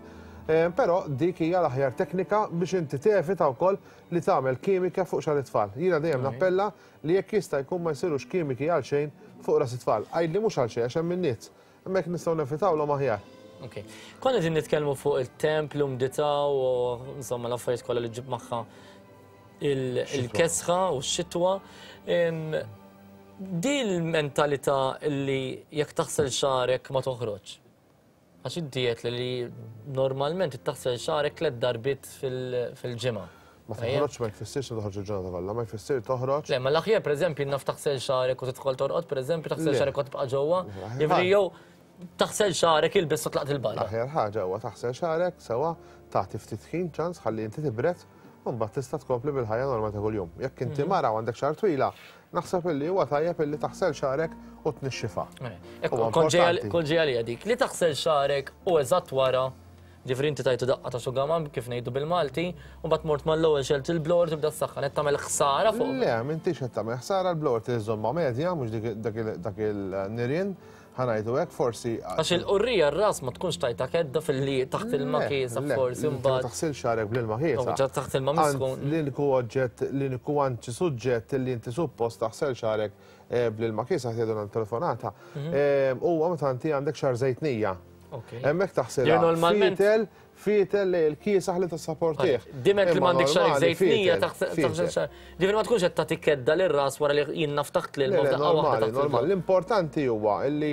Però dik hija l-aħjar teknika biex inti tevita wkoll li tagħmel kimika fuq xagħar it-tfal. Jiena dejjem nappella li jekk jista' jkun ma jsirux kimiki għal xejn fuq ras it-tfal. Għidli mhux għal xejn għax hemm in-nies. Hemmhekk nistgħu nevitawlhom aħjar.
Ok. Konna qegħdin nitkellmu fuq il-temp, l-umdità u insomma l-affarijiet kollha li ġib magħha il-kesħa u x-xitwa. Di l-mentalità li jekk taħsel xagħrek ma toħroġ. Għax id-diet li normalment taħsel xagħrek tliet darbiet fil-ġimgħa.
Ma toħroġ ma jfissirx li toħroġ il-ġurnata kollha, ma jfissir toħroġ.
Le, ma l-aħjar pereżempju naf taħsel xagħrek u tidħol torqod, pereżempju taħsel xagħrek u tibqa' ġewwa. Jiġifieri jew taħsel xagħrek ilbes u tlaqt il-barra.
L-aħjar ħaġa huwa taħsel xagħrek sewa tagħti ftit ħin ċans ħalli inti tibred u mbagħad tista' tkompli bil-ħajja normali ta' kuljum. Jekk inti mara u għandek xagħar twila, naħseb illi huwa tajjeb illi taħsel xagħrek u tnixxifha.
Kont ġej għalija dik li taħsel xagħrek u eżatt wara, ġifieri inti tajtu daqqa ta' xugaman kif ngħidu bil-Malti, u mbagħad mort mal-ewwel xelt il-blower tibda s-saħħa, qed tagħmel ħsara fuq.
Le, m'intix qed tagħmel ħsara, l-blower tiżżommha medja, mhux dak il-nirien. Ħa ngħidu hekk forsi.
Għax il-qurrija r-ras ma tkunx tajta kedda fil-li taħt ilma kiesa forsi mbagħad.
Ma taħsil xagħrek bl-ilma kiesa.
Taħt ilma misħun.
L-uniku oġġett, l-uniku anċi suġġett li inti suppost taħsel xagħrek bl-ilma kiesa ħtiedu telefonata. Huwa meta inti għandek xagħar żejtnija. Hemmhekk taħsilha. Fitel, fitel li l-kiesaħ li tassaportih.
Diment li m'għandek xagħrek żejtnija taħsel xagħrek. Ġifieri ma tkunx qed tagħti kedda lir-ras wara li jien naftaħt lil
f'daqqa waħda. Normal, l-importanti huwa li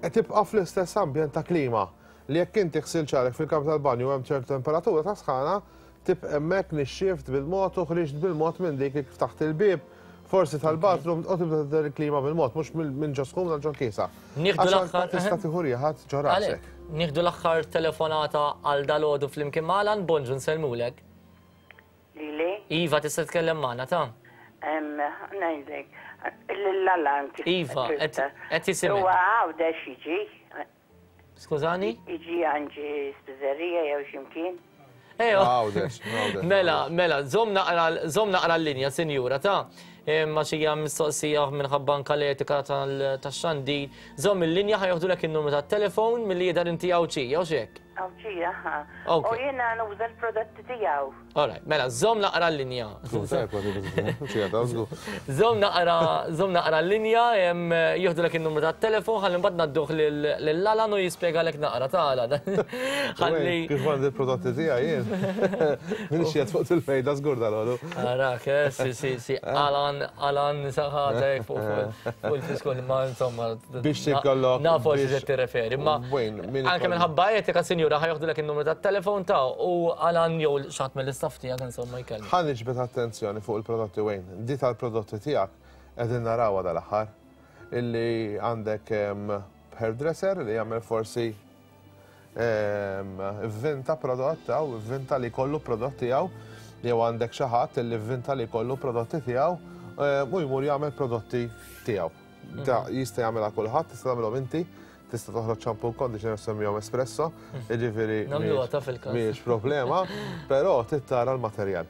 tibqa' fl-istess ambjent ta' klima. Li jekk inti ħsil xagħrek fil-kamra tal-banju hemm ċertu temperatura ta' sħana, tibqa' hemmhekk nixxift bil-mod u ħriġt bil-mod minn dik kif taħt il-bieb. Forsi tal-bathroom u tibda tidher il-klima bil-mod, mhux minn ġo sħun għal ġo kiesa.
Nieħdu l-aħħar.
Tista' tieħu rieħat ġo rasek.
Nieħdu l-aħħar telefonata għal dalgħodu flimkien ma' Alan, bonġu nsellmulek.
Lili?
Iva, tista' tkellem magħna ta'?
Ngħidlek, lil-Alan.
Iva, qed jisimgħek.
Huwa Għawdex jiġi.
Skużani?
Jiġi għandi spiżerija jew x'imkien.
Mela, mela, żomm naqra l-linja, sinjura, ta' ma xija mistoqsija minħabba anka l-etika tax-xandir. Żomm il-linja ħa joħdulek in-numru tat-telefon milli jidher inti Għawdxija, u x'hekk?
Għawdxija, ha. U jiena nuża l-prodotti tiegħu.
All right, mela, żomm naqra l-linja. Żomm naqra, żomm naqra l-linja, joħdulek in-numru tat-telefon, ħalli mbagħad ngħadduh lil Alan u jispjegalek naqra ta' Alan.
Ħalli kif għandi l-prodotti tiegħi jien. Minix qiegħed fuq il-fejda żgur dalgħodu.
Arak, si, si, si, Alan, Alan saħatek fuq il-fiskol, ma insomma.
Biex tikollok.
Nafu xi qed tirreferi, ma anke minħabba etika, sinjura, ħa joħdulek in-numru tat-telefon ta' u Alan jew xi ħadd mill-istaff tiegħek insomma jkellem.
Ħa niġbed attenzjoni fuq il-prodotti Wayne. Di tal-prodotti tiegħek qegħdin narawha dal-aħħar illi għandek hairdresser li jagħmel forsi vvinta prodott jew vvinta li jkollu prodott tiegħu jew għandek xi ħadd li vvinta li jkollu prodotti tiegħu u jmur jagħmel prodotti tiegħu. Da jista' jagħmilha kulħadd, tista' tagħmilhom inti, tista' toħroġ shampoo conditioner semmihom espresso, jiġifieri
nagħmluha ta' fil-każ.
Mhijiex problema, però trid tara l-materjal.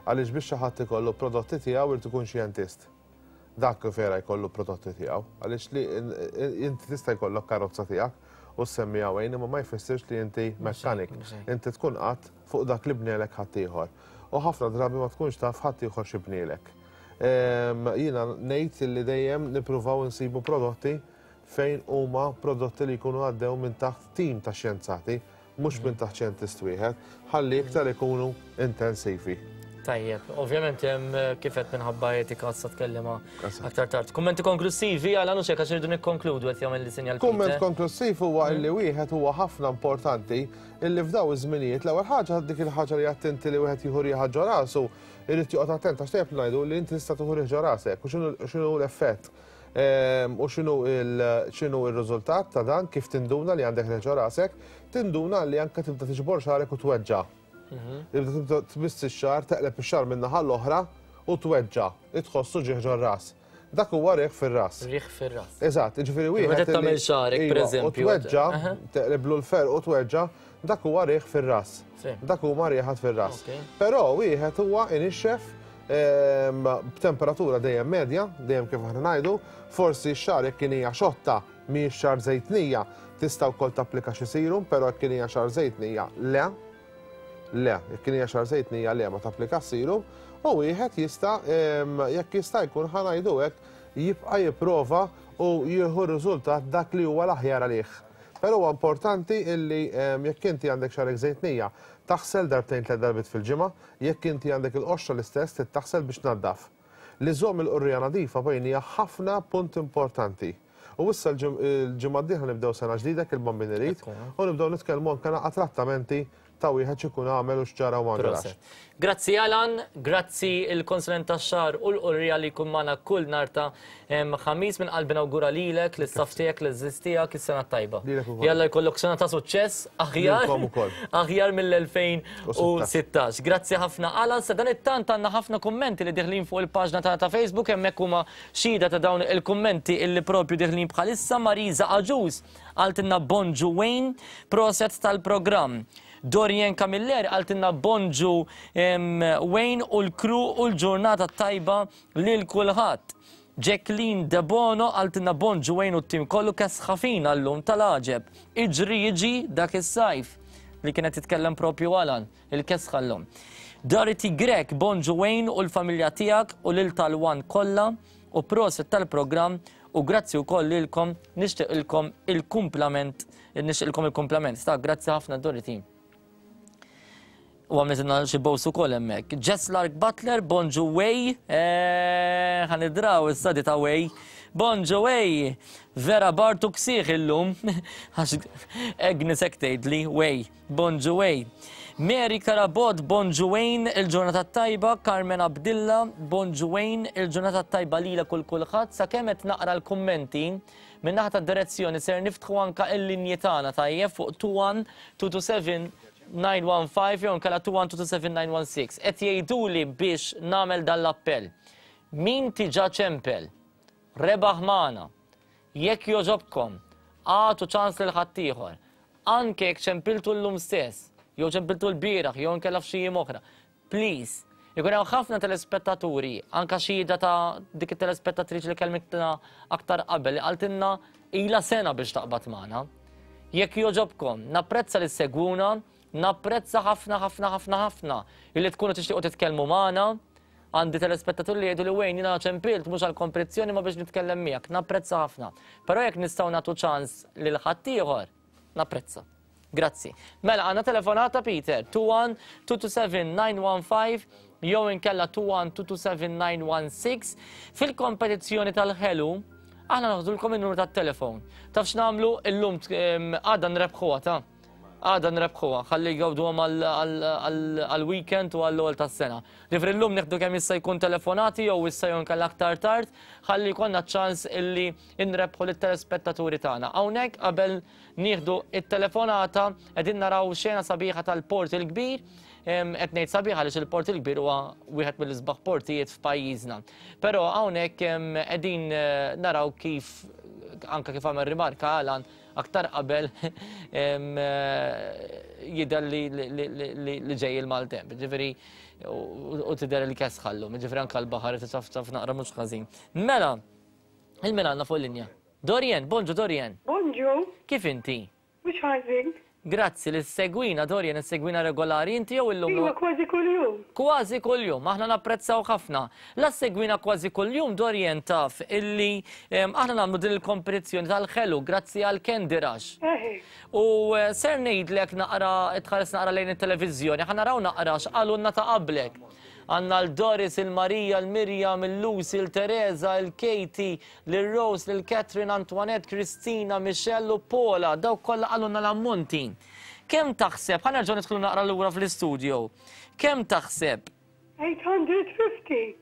Għaliex biex xi ħadd ikollu prodotti tiegħu irid ikun xjentist. Dak vera jkollu prodotti tiegħu, għaliex li inti tista' jkollok karozza tiegħek u semmiha Wayne, imma ma jfissirx li inti mekkanik. Inti tkun qatt fuq dak li bnielek ħaddieħor. U ħafna drabi ma tkunx taf ħaddieħor xi bnielek. Jiena ngħid li dejjem nippruvaw insibu prodotti fejn huma prodotti li jkunu għaddew minn taħt tim ta' xjenzati, mhux minn taħt xjentist wieħed, ħalli iktar ikunu intensivi.
Tajjeb, ovvjament hemm kif qed minħabba etika sa tkellima aktar tard. Kummenti konklusivi għal għanu xejn għax irridu nikkonkludu qed jagħmel li sinjal.
Kumment konklusiv huwa illi wieħed huwa ħafna importanti illi f'daw iż-żminijiet l-ewwel ħaġa dik il-ħaġa li attenti li wieħed jieħu rieħa ġo rasu, irid joqgħod attent għax tajjeb ngħidu li inti tista' tieħu rieħ ġo rasek u x'inhu l-effett. U x'inhu r-riżultat ta' dan kif tinduna li għandek rieħ ġo rasek, tinduna li anke tibda tiġbor xagħrek u tweġġa'. Tibda tmiss ix-xagħar, teqleb ix-xagħar minn naħa l-oħra u tweġġa', tħossu ġieħ ġor-ras. Dak huwa riħ fir-ras.
Riħ fir-ras.
Eżatt, jiġifieri wieħed.
Meta tagħmel xagħrek, pereżempju.
U tweġġa', teqleblu l-ferq u tweġġa', dak huwa riħ fir-ras. Dak huma riħat fir-ras. Però wieħed huwa inixxef b'temperatura dejjem medja, dejjem kif aħna ngħidu, forsi x-xagħar jekk kien hija xotta mhijiex xagħar żejtnija, tista' wkoll tapplika xi serum, però jekk kien hija xagħar żejtnija le. Le, jekk kien hija xagħar żejtnija le ma tapplika serum, u wieħed jista' jekk jista' jkun ħa ngħidu hekk jibqa' jipprova u jieħu r-riżultat dak li huwa l-aħjar għalih. Però huwa importanti illi jekk inti għandek xagħrek żejtnija, taħsel darbtejn tliet darbiet fil-ġimgħa, jekk inti għandek il-qoxra l-istess trid taħsel biex tnaddaf. Li żomm il-qurrija nadifa bejn hija ħafna punt importanti. U issa l-ġimgħa d-dieħla nibdew sena ġdida kif il-Bambin irid u nibdew nitkellmu anke naqa' trattamenti ta' wieħed x'ikun għamel u x'ġara u ma ġarax.
Grazzi Alan, grazzi il-konsulent tax-xagħar u l-qurrija li jkun magħna kull nhar ta' Ħamis. Minn qalbi nawgura lilek, lis-staff tiegħek, liż-żiż tiegħek is-sena tajba. Jalla jkollok sena ta' suċċess aħjar aħjar mill-elfejn u sittax. Grazzi ħafna Alan. Sa dan it-tant għandna ħafna kummenti li deħlin fuq il-paġna tagħna ta' Facebook, hemmhekk huma xhieda ta' dawn il-kummenti illi propju deħlin bħalissa. Marisa Aġus qaltilna bonġu Wayne, proset tal-programm. Dorien Camilleri qaltilna bonġu Wayne u l-kru u l-ġurnata tajba lil kulħadd. Jacqueline Debono qaltilna bonġu Wayne u t-tim kollu kesħafin għallum tal-għaġeb. Iġri jiġi dak is-sajf li kienet titkellem propju Alan, il-kesħa llum. Dorothy Grek, bonġu Wayne u l-familja tiegħek u lil tal-One kollha u proset tal-programm u grazzi wkoll lilkom, nixtieqilkom il-kumplament, nixtieqilkom il-kumplament. Ta' grazzi ħafna Dorothy. U għamletilna xi bows ukoll hemmhekk. Jess Lark Butler, bonġu Way, ħanidraw issa di ta' Way. Bonġu Way, vera Bartu ksieħ illum, għax Agnes hekk tgħidli Way, bonġu Way. Mary Karabot, bonġu Wayne, il-ġurnata tajba. Carmen Abdilla, bonġu Wayne, il-ġurnata tajba lila kull kulħadd. Sakemm qed naqra l-kummenti minn naħa tad-direzzjoni ser niftħu anka l-linji tagħna tajjeb fuq two one two two seven nine one five jew inkella two one two two seven nine one six. Qed jgħiduli biex nagħmel dan l-appell. Min tiġa ċempel, rebaħ magħna, jekk jogħġobkom, agħtu ċans lil ħaddieħor. Anke jekk ċempiltu llum stess, jew ċempiltu l-bieraħ, jew inkella f'xi jiem oħra. Please, ikun hemm ħafna telespettaturi, anke xhieda ta' dik it-telespettatriċi li kelmitna aktar qabel li qaltilna ilha sena biex taqbad magħna. Jekk jogħġobkom, napprezza li segwuna, napprezza ħafna ħafna ħafna ħafna illi tkunu tixtiequ titkellmu magħna. Għandi telespettaturi li jgħidu li Wayne jiena ċempilt mhux għall-kompetizzjoni ma biex nitkellem miegħek, napprezza ħafna. Però jekk nistgħu nagħtu ċans lil ħaddieħor, napprezza. Grazzi. Mela għandna telefonata Peter, two one two two seven nine one five jew inkella two one two two seven nine one six. Fil-kompetizzjoni tal-ħelu aħna naħdulkom in-numru tat-telefon. Taf x'nagħmlu illum għadha nrebħuha ta' għadha nrebħuha, ħalli jgawduhom għall-weekend u għall-ewwel tas-sena. Ġifieri llum nieħdu kemm jista' jkun telefonati jew issa jew inkella aktar tard, ħalli jkollna ċans illi nrebħu lit-telespettaturi tagħna. Hawnhekk qabel nieħdu it-telefonata qegħdin naraw xena sabiħa tal-Port il-Kbir. Qed ngħid sabiħa għaliex il-Port il-Kbir huwa wieħed mill-isbaħ portijiet f'pajjiżna. Però hawnhekk qegħdin naraw kif anke kif għamel rimarka Alan aktar qabel jidher li ġej il-maltemp. Ġifieri u tidher li kesħallu, ġifieri anke l-baħar taf naqra mhux ħażin. Mela, il-min għandna fuq il-linja? Dorien, bonġu Dorien.
Bonġu.
Kif inti?
Mhux ħażin.
Grazzi li segwina Dorien, segwina regolari inti jew illum?
Iva, kważi kuljum.
Kważi kuljum, aħna napprezzaw ħafna. La segwina kważi kuljum Dorien taf illi aħna nagħmlu din il-kompetizzjoni tal-ħelu grazzi għal Candy Rush. U ser ngħidlek naqra tħares naqra lejn it-televiżjoni, aħna naraw naqra x'qalulna ta' qablek. Għandna l-Doris, il-Marija, il-Mirjam, il-Lucy, il-Teresa, il-Katie, l-Rose, il-Catherine, Antoinette, Kristina, Michelle u Paula. Dawk kollha qalulna l-ammonti. Kemm taħseb, ħa nerġgħu nidħlu naqra lura fl-istudio. Kemm taħseb?
eight hundred fifty.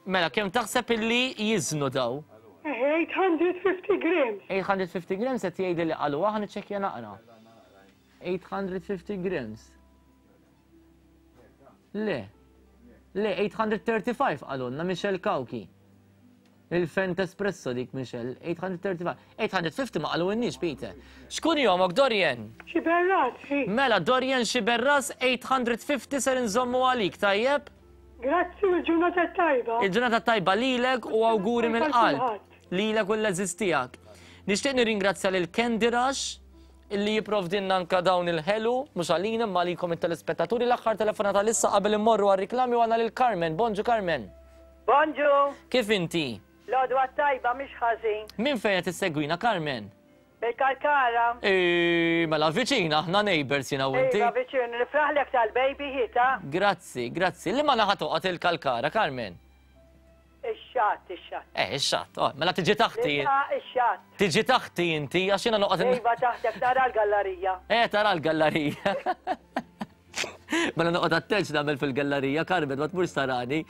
Mela, kemm taħseb illi jiżnu daw?
eight hundred fifty grams.
eight hundred fifty grams qed jgħidli li qalu, aħna niċċekkja naqra. eight hundred fifty grams. Le. Le, eight hundred thirty-five qalulna Michelle Cauchi. Il-Fent Espresso dik, Michelle, eight hundred thirty-five. eight hundred fifty ma qalulniex, Peter. X'kunjomok, Dorian?
Xiberras, hi.
Mela, Dorian Xiberras, eight hundred fifty ser nżommu għalik, tajjeb?
Grazzi u l-ġurnata tajba.
Il-ġurnata tajba lilek u awguri mill-qalb. Lilek u l-għeżież tiegħek. Nixtieq nirringrazzja lil Candy Rush illi jipprovdinna anka dawn il-ħelu, mhux għalina imma għalikom it-telespettaturi. L-aħħar telefonata lissa qabel immorru għar-riklami u għandna lil Carmen. Bonġu, Carmen.
Bonġu.
Kif inti?
L-għodwa tajba, mhix ħażin.
Min fejn qed issegwina, Carmen?
Bil-Kalkara.
Ej, mela viċina, aħna neighbors jiena u inti.
Iva, viċin, nifraħlek tal-baby ħita.
Grazzi, grazzi. Liema naħa toqgħod il-Kalkara, Carmen?
Ix-xatt, ix-xatt.
Eh, ix-xatt, oh, mela tiġi taħti.
Ix-xatt.
Tiġi taħti inti, għax jiena noqgħod.
Iva, taħtek tara l-gallerija.
Eh, tara l-gallerija. Mela noqgħod attenċ nagħmel fil-gallerija, Carmen, ma tmurx tarani.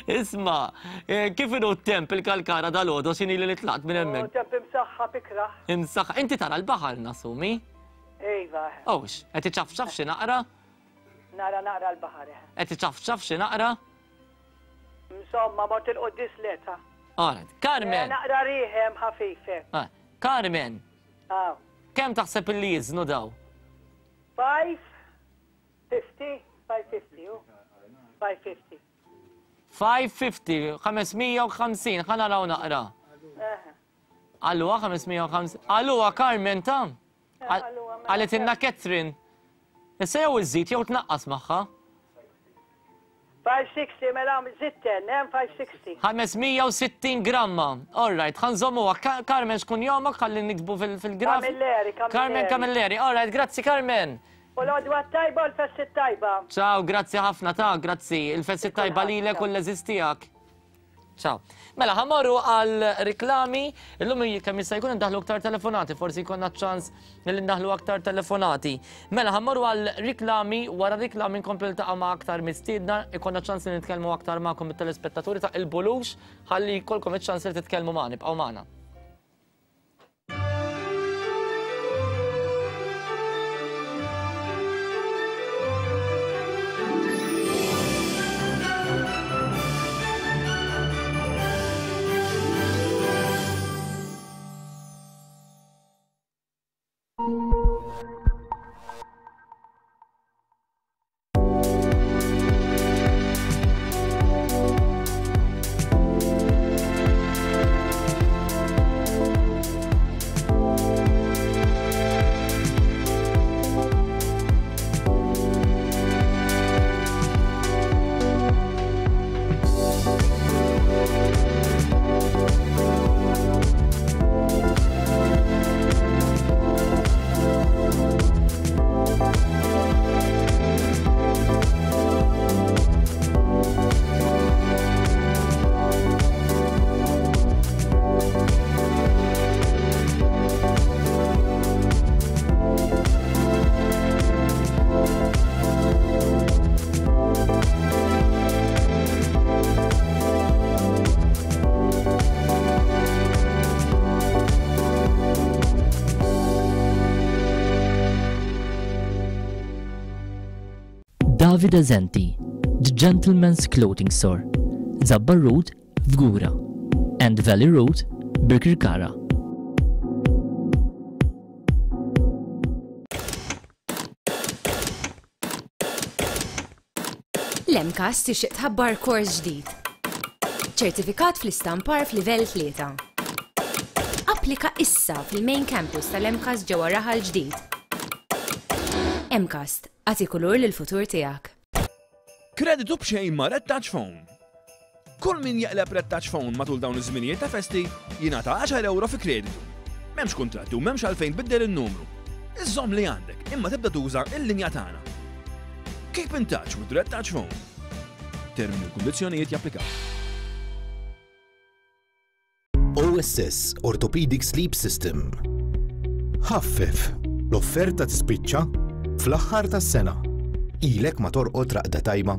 Isma', kif inhu t-temp il-Kalkara dalgħodu, x'inhi li tlaqt minn hemmhekk?
Temp imsaħħa bikra.
Imsaħħa. Inti tara l-baħar nasumi?
Iva.
Owx, qed iċafċaf xi naqra?
Nara naqra l-baħar.
Qed iċafċaf xi naqra?
Insomma, mort il-qoddis leta.
Alright, Carmen.
Naqra riħem ħafife.
Carmen. Kemm taħseb illi jiżnu daw?
five fifty, five fifty, five fifty.
five fifty, ħames mija u ħamsin, ħa naraw naqra. Għalluha ħames mija u ħamsin. Għalluha, Carmen, ta' qaltilna Catherine. Issa jew iżid jew tnaqqas magħha.
five sixty, mela zitten, hemm five sixty.
ħames mija u sittin gramma. All right, ħa nżommuha. Carmen, x'kunjomok ħalli niktbu fil-graf?
Camilleri, Camilleri.
Carmen Camilleri. All right, grazzi, Carmen.
U l-għodwa tajba u l-festi tajba.
Ciao, grazzi ħafna ta' grazzi. Il-festi tajba lilek u l-għeżież tiegħek. Ciao. Mela, ħa mmorru għal riklami. Illum kemm jista' jkun ndaħlu aktar telefonati, forsi jkollna ċans li ndaħlu aktar telefonati. Mela, ħa mmorru għal riklami, wara riklami nkomplu niltaqa' ma' aktar mistiedna, ikollna ċans li nitkellmu aktar magħkom it-telespettaturi ta' il-bulux, ħalli jkollkom iċ-ċans li titkellmu magħna, ibqgħu magħna. Davide Zenti, The Gentleman's Clothing Store, Zabbar Road, Fgura, and Valley Road, Birkirkara.
L-MCAST tixtieq tħabbar kors ġdid. Ċertifikat fl-istampar f'livell tlieta. Applika issa fil-main campus tal-MCAST ġewwa Raħal Ġdid. MCAST, agħti kulur lill-futur tiegħek.
Kreditu b'xejn ma' Red Touch Phone. Kull min jaqleb Red Touch Phone matul dawn iż-żminijiet ta' festi jingħata għaxar euro fi kreditu. M'hemmx kuntratti u m'hemmx għalfejn tbiddel in-numru. Iżżomm li għandek imma tibda tuża il-linja tagħna. Keep in touch with Red Touch Phone. Termini u kundizzjonijiet japplikaw.
O S S Orthopedic Sleep System. Ħaffef, l-offerta tispiċċa fl-aħħar tas-sena. Ilek ma torqod raqda tajba.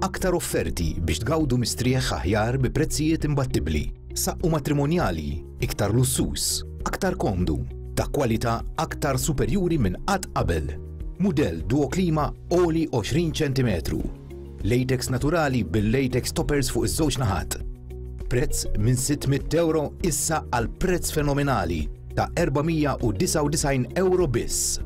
Aktar offerti biex tgawdu mistrieħ aħjar bi prezzijiet imbattibbli. Saqqu matrimonjali, iktar lussus, aktar komdu, ta' kwalità aktar superjuri minn qatt qabel. Mudell Duo Klima għoli għoxrin ċentimetru. Latex naturali bil-latex toppers fuq iż-żewġ naħat. Prezz minn sitt mitt euro issa għal prezz fenomenali ta' erba' mija u disgħa u disgħin euro biss.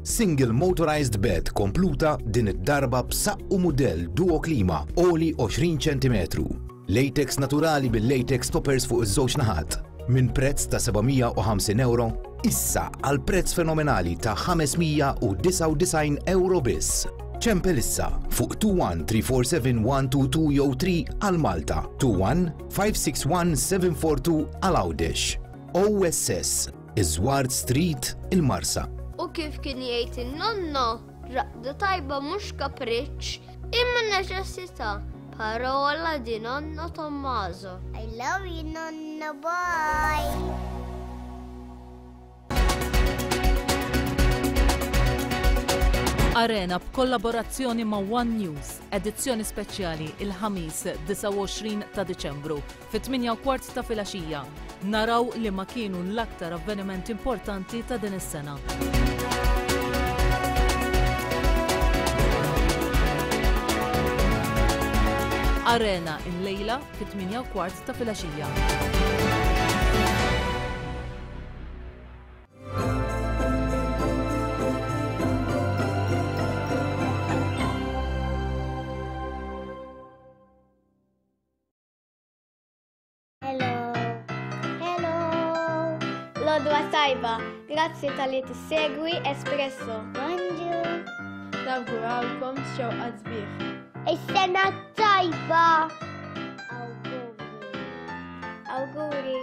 Single motorized bed kompluta din id-darba b'saqqu mudell Duo Klima għoli għoxrin ċentimetru. Latex naturali bil-latex toppers fuq iż-żewġ naħat. Minn prezz ta' seba' mija u ħamsin euro issa għal prezz fenomenali ta' ħames mija u disgħa u disgħin euro biss. Ċempel issa fuq two one three four seven one two two jew three għal Malta, two one five six one seven four two għal Għawdex. O S S, Iżward Street, il-Marsa.
U kif kien jgħid in-nonno, raqda tajba mhux kapriċċ, imma neċessità. Parola di nonno Tommaso. I love you, nonno, bye.
Arena b'kollaborazzjoni ma' One News, edizzjoni speċjali il-ħamis disgħa u għoxrin ta' Diċembru fit-tmienja u kwart ta' filgħaxija. Naraw li ma kienu l-aktar avvenimenti importanti ta' din is-sena. Arena il-lejla fit-tmienja u kwart ta' filgħaxija.
Hello. Hello. Lodwa tajba, grazzi tal-li tissegwi Espresso. Bonjour.
Nawgurawlkom xewqa sbieħ.
Is-sena tajba. Awguri. Awguri.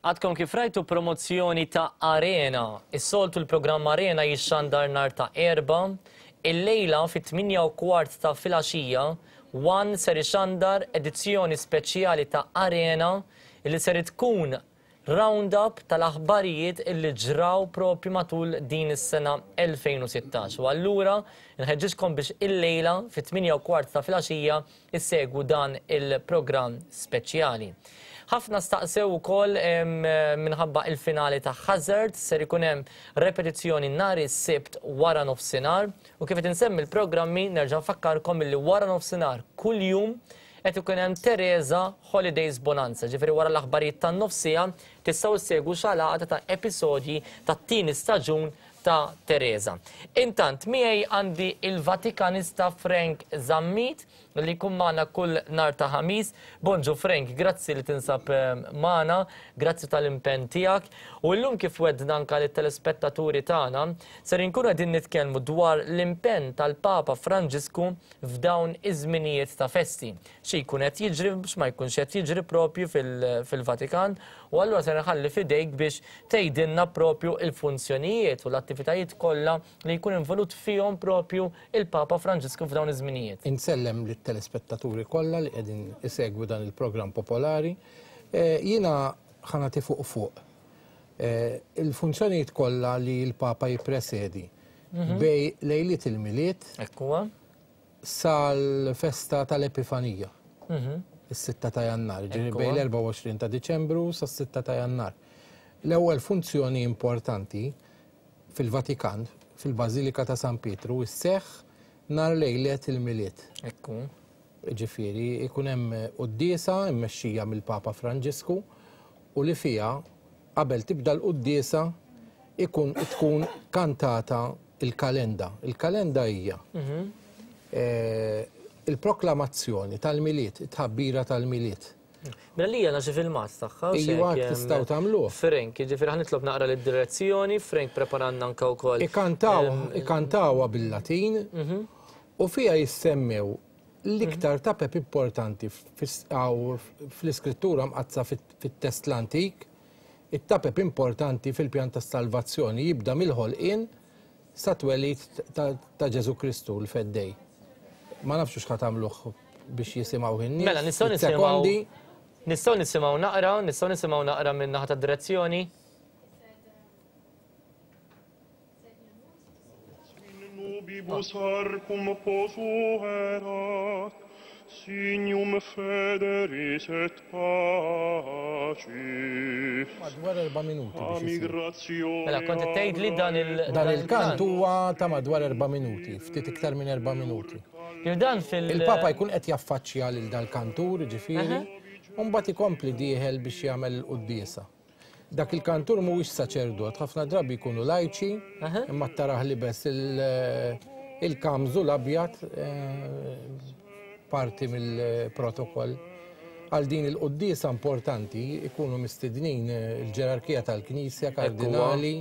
Għadkom kif rajtu promozzjoni ta' Arena. Is-soltu l-programm Arena jixxandar nar ta' erba. Il-lejla fit-tmienja u kwart ta' filgħaxija, One ser ixandar edizzjoni speċjali ta' Arena li ser tkun round-up tal-aħbarijiet illi ġraw propju matul din is-sena elfejn u sittax. U allura nħeġġiġkom biex il-lejla fit-tmienja u kwart ta' filgħaxija issegwu dan il-programm speċjali. Ħafna staqsew ukoll, em, minħabba il-finali ta' Hazard, ser ikun hemm repetizzjoni nhar is-Sibt wara nofsinhar, u kif qed insemmi l-programmi nerġa' nfakkarkom illi wara nofsinhar kuljum qed ikun hemm Teresa Holidays Bonanza, ġifieri wara l-aħbarijiet tan-nofsija tistgħu ssegwu xalaqata ta' episodji tat-tieni staġun ta' Teresa. Intant miegħi għandi il-Vatikanista Frank Zammit li jkun magħna kull nhar ta' Ħamis. Bonġu Frank, grazzi li tinsab, eh, magħna, grazzi tal-impenn tiegħek. U llum kif wedna anke lit-telespettaturi tagħna, ser inkunu qegħdin nitkellmu dwar l-impenn tal-Papa Franġisku f'dawn iż-żminijiet ta' festi. Xi jkun qed jiġri biex ma jkunx qed jiġri propju fil-, fil-Vatikan, u allura se nħalli f'idejk biex tgħidilna propju il-funzjonijiet u l-attivitajiet kollha li jkun involut fihom propju il-Papa Franġisku f'dawn iż-żminijiet.
Insellem lit-telespettaturi kollha li qegħdin isegwu dan il-programm popolari. Eh, jiena ħa nagħti fuq fuq. Eh, il-funzjonijiet kollha li l-Papa jippresedi
Mhm.
bej lejliet il-Milied
Ekkuwa.
sal-festa tal-Epifanija.
Mhm.
Is-sitta ta' Jannar, ġifieri
Ekku.
bejn l-erbgħa u għoxrin ta' Diċembru sas-sitta ta' Jannar. L-ewwel funzjoni importanti fil-Vatikan, fil-Bażilika ta' San Pietru, isseħħ nhar lejlet il-Milied.
Ekku.
Ġifieri, ikun hemm quddiesa mmexxija mill-Papa Franġisku u li fiha qabel tibda l-quddiesa ikun tkun kantata il-kalenda. Il-kalenda hija
Mhm.
eh, il-proklamazzjoni tal-Milied, it-tħabbira tal-Milied.
Mela li għandna xi filmat tagħha, u
Iva,
xejn,
tistgħu
em,
tagħmluh.
Frank, jiġifieri ħa nitlob naqra lid-direzzjoni, Frank preparanna anke wkoll.
Ikantaw,
em,
ikantawha bil-Latin
Mhm.
u fiha jissemmew l-iktar tapep importanti fis-, għaw, fl-iskrittura mqaddsa fit-, fit-test l-antik, it-tapep importanti fil-pjan ta' salvazzjoni jibda mill-ħolqien sa twelid ta', ta' Ġesu Kristu l-Feddej. Ma nafx x'ħa tagħmluh biex jisimgħu in-nies.
Mela nistgħu nisimgħu nistgħu nisimgħu naqra, nistgħu nisimgħu naqra minn naħa tad-direzzjoni.
Nubibus arcum posuerat, signum federis et pacis.
Madwar erba' minuti biex isir.
Mela kont qed tgħidli dan il
Dan il-kant huwa ta' madwar erba' minuti, ftit iktar minn erba' minuti.
Dan fil
Il-Papa jkun qed jaffaċċja lil dal-kantur, ġifieri, u mbagħad ikompli dieħel biex jagħmel il-quddiesa. Dak il-kantur mhuwiex saċerdot, ħafna drabi jkunu lajċi, imma taraħ libes il-kamżu l-abjad parti mill-protokoll. Għal din il-quddiesa importanti ikunu mistednin il-ġerarkija tal-Knisja, kardinali,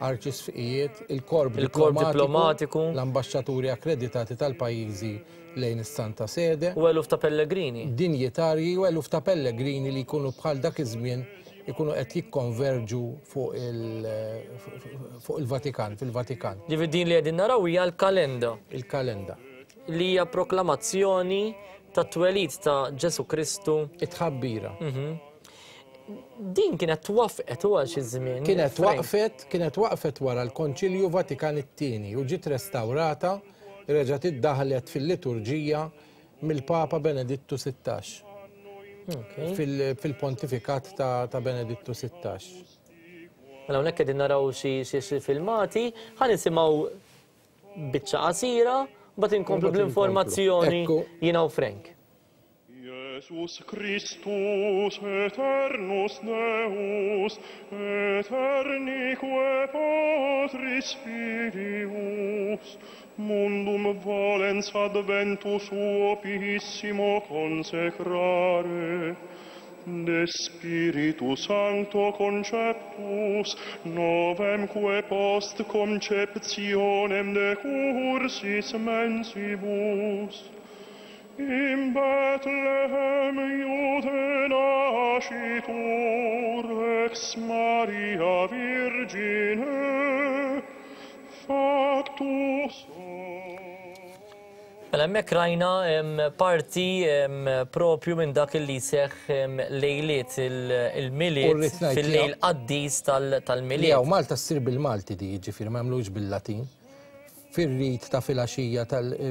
arċisfijiet, il-korp
diplomatiku,
l-ambaxxaturi akkreditati tal-pajjiżi lejn is-Santa Sede.
U eluf ta' pellegrini.
Dinjitarji u eluf ta' pellegrini li jkunu bħal dak iż-żmien ikunu qed jikkonverġu fuq il-Vatikan, fil-Vatikan.
Ġifieri din li qegħdin naraw hija l-kalenda.
Il-kalenda.
Li hija proklamazzjoni tat-twelid ta' Ġesu Kristu.
It-tħabbira.
Din kienet twafqet u għal xi żmien.
Kienet waqfet, kienet waqfet wara l-Konċilju Vatikan it-tieni u ġiet restawrata, reġgħet iddaħlet fil-liturġija mill-Papa Benedittu sittax. Fil-pontifikat ta' Benedittu sittax.
Mela hawnhekk qegħdin naraw xi filmati, ħa nisimgħu biċċa qasira, mbagħad inkomplu bl-informazzjoni jiena u Frank.
Jesus Christus aeternus Deus, aeternique Patris Filius, mundum volens adventu suo piissimo consecrare, de Spiritu Sancto conceptus, novemque post conceptionem decursis mensibus, in Bethlehem Iude nascitur, ex Maria Virgine, factus.
Mela hemmhekk rajna parti propju minn dak li seħħ lejliet il-Milied fil-lejl qaddis tal-Milied.
Jew Malta ssir bil-Malti di, jiġifieri ma jagħmlux bil-Latin. Fir-rit ta' filgħaxija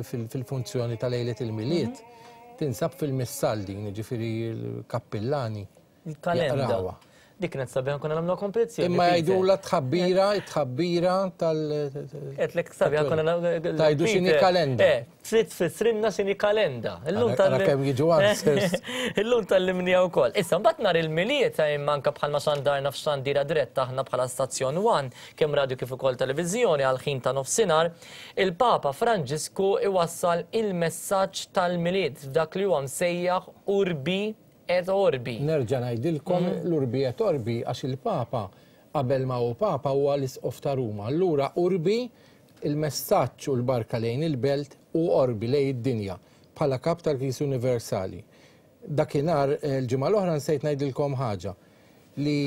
fil-funzjoni ta' lejliet il-Milied tinsab fil-missal din, jiġifieri l-kappillani.
Il-kalenda. Dik kienet sabiħa konna nagħmluha kompetizzjoni.
Imma jgħidulha tħabbira, tħabbira tal.
Qedlek sabiħa konna nagħmlu.
Tajdu x'inhi kalenda.
Eh, trid tfissrilna x'inhi kalenda. Illum tal.
Kemm jiġu answers.
Illum tallimniha wkoll. Issa mbagħad nhar il-Milied imma anke bħalma xandarna f'xandira diretta aħna bħala Stazzjon One, kemm radio kif ukoll televiżjoni għal ħin ta' nofsinhar, il-Papa Franġisku iwassal il-messaġġ tal-Milied f'dak li huwa msejjaħ Urbi et Orbi.
Nerġa' ngħidilkom l-Urbi et Orbi għax il-Papa qabel ma hu Papa huwa l-Isqof ta' Ruma. Allura Urbi il-messaġġ u l-barka lejn il-belt u Orbi lejn id-dinja bħala kap tal-Knisja Universali. Dakinhar il-ġimgħa l-oħra nsejt ngħidilkom ħaġa li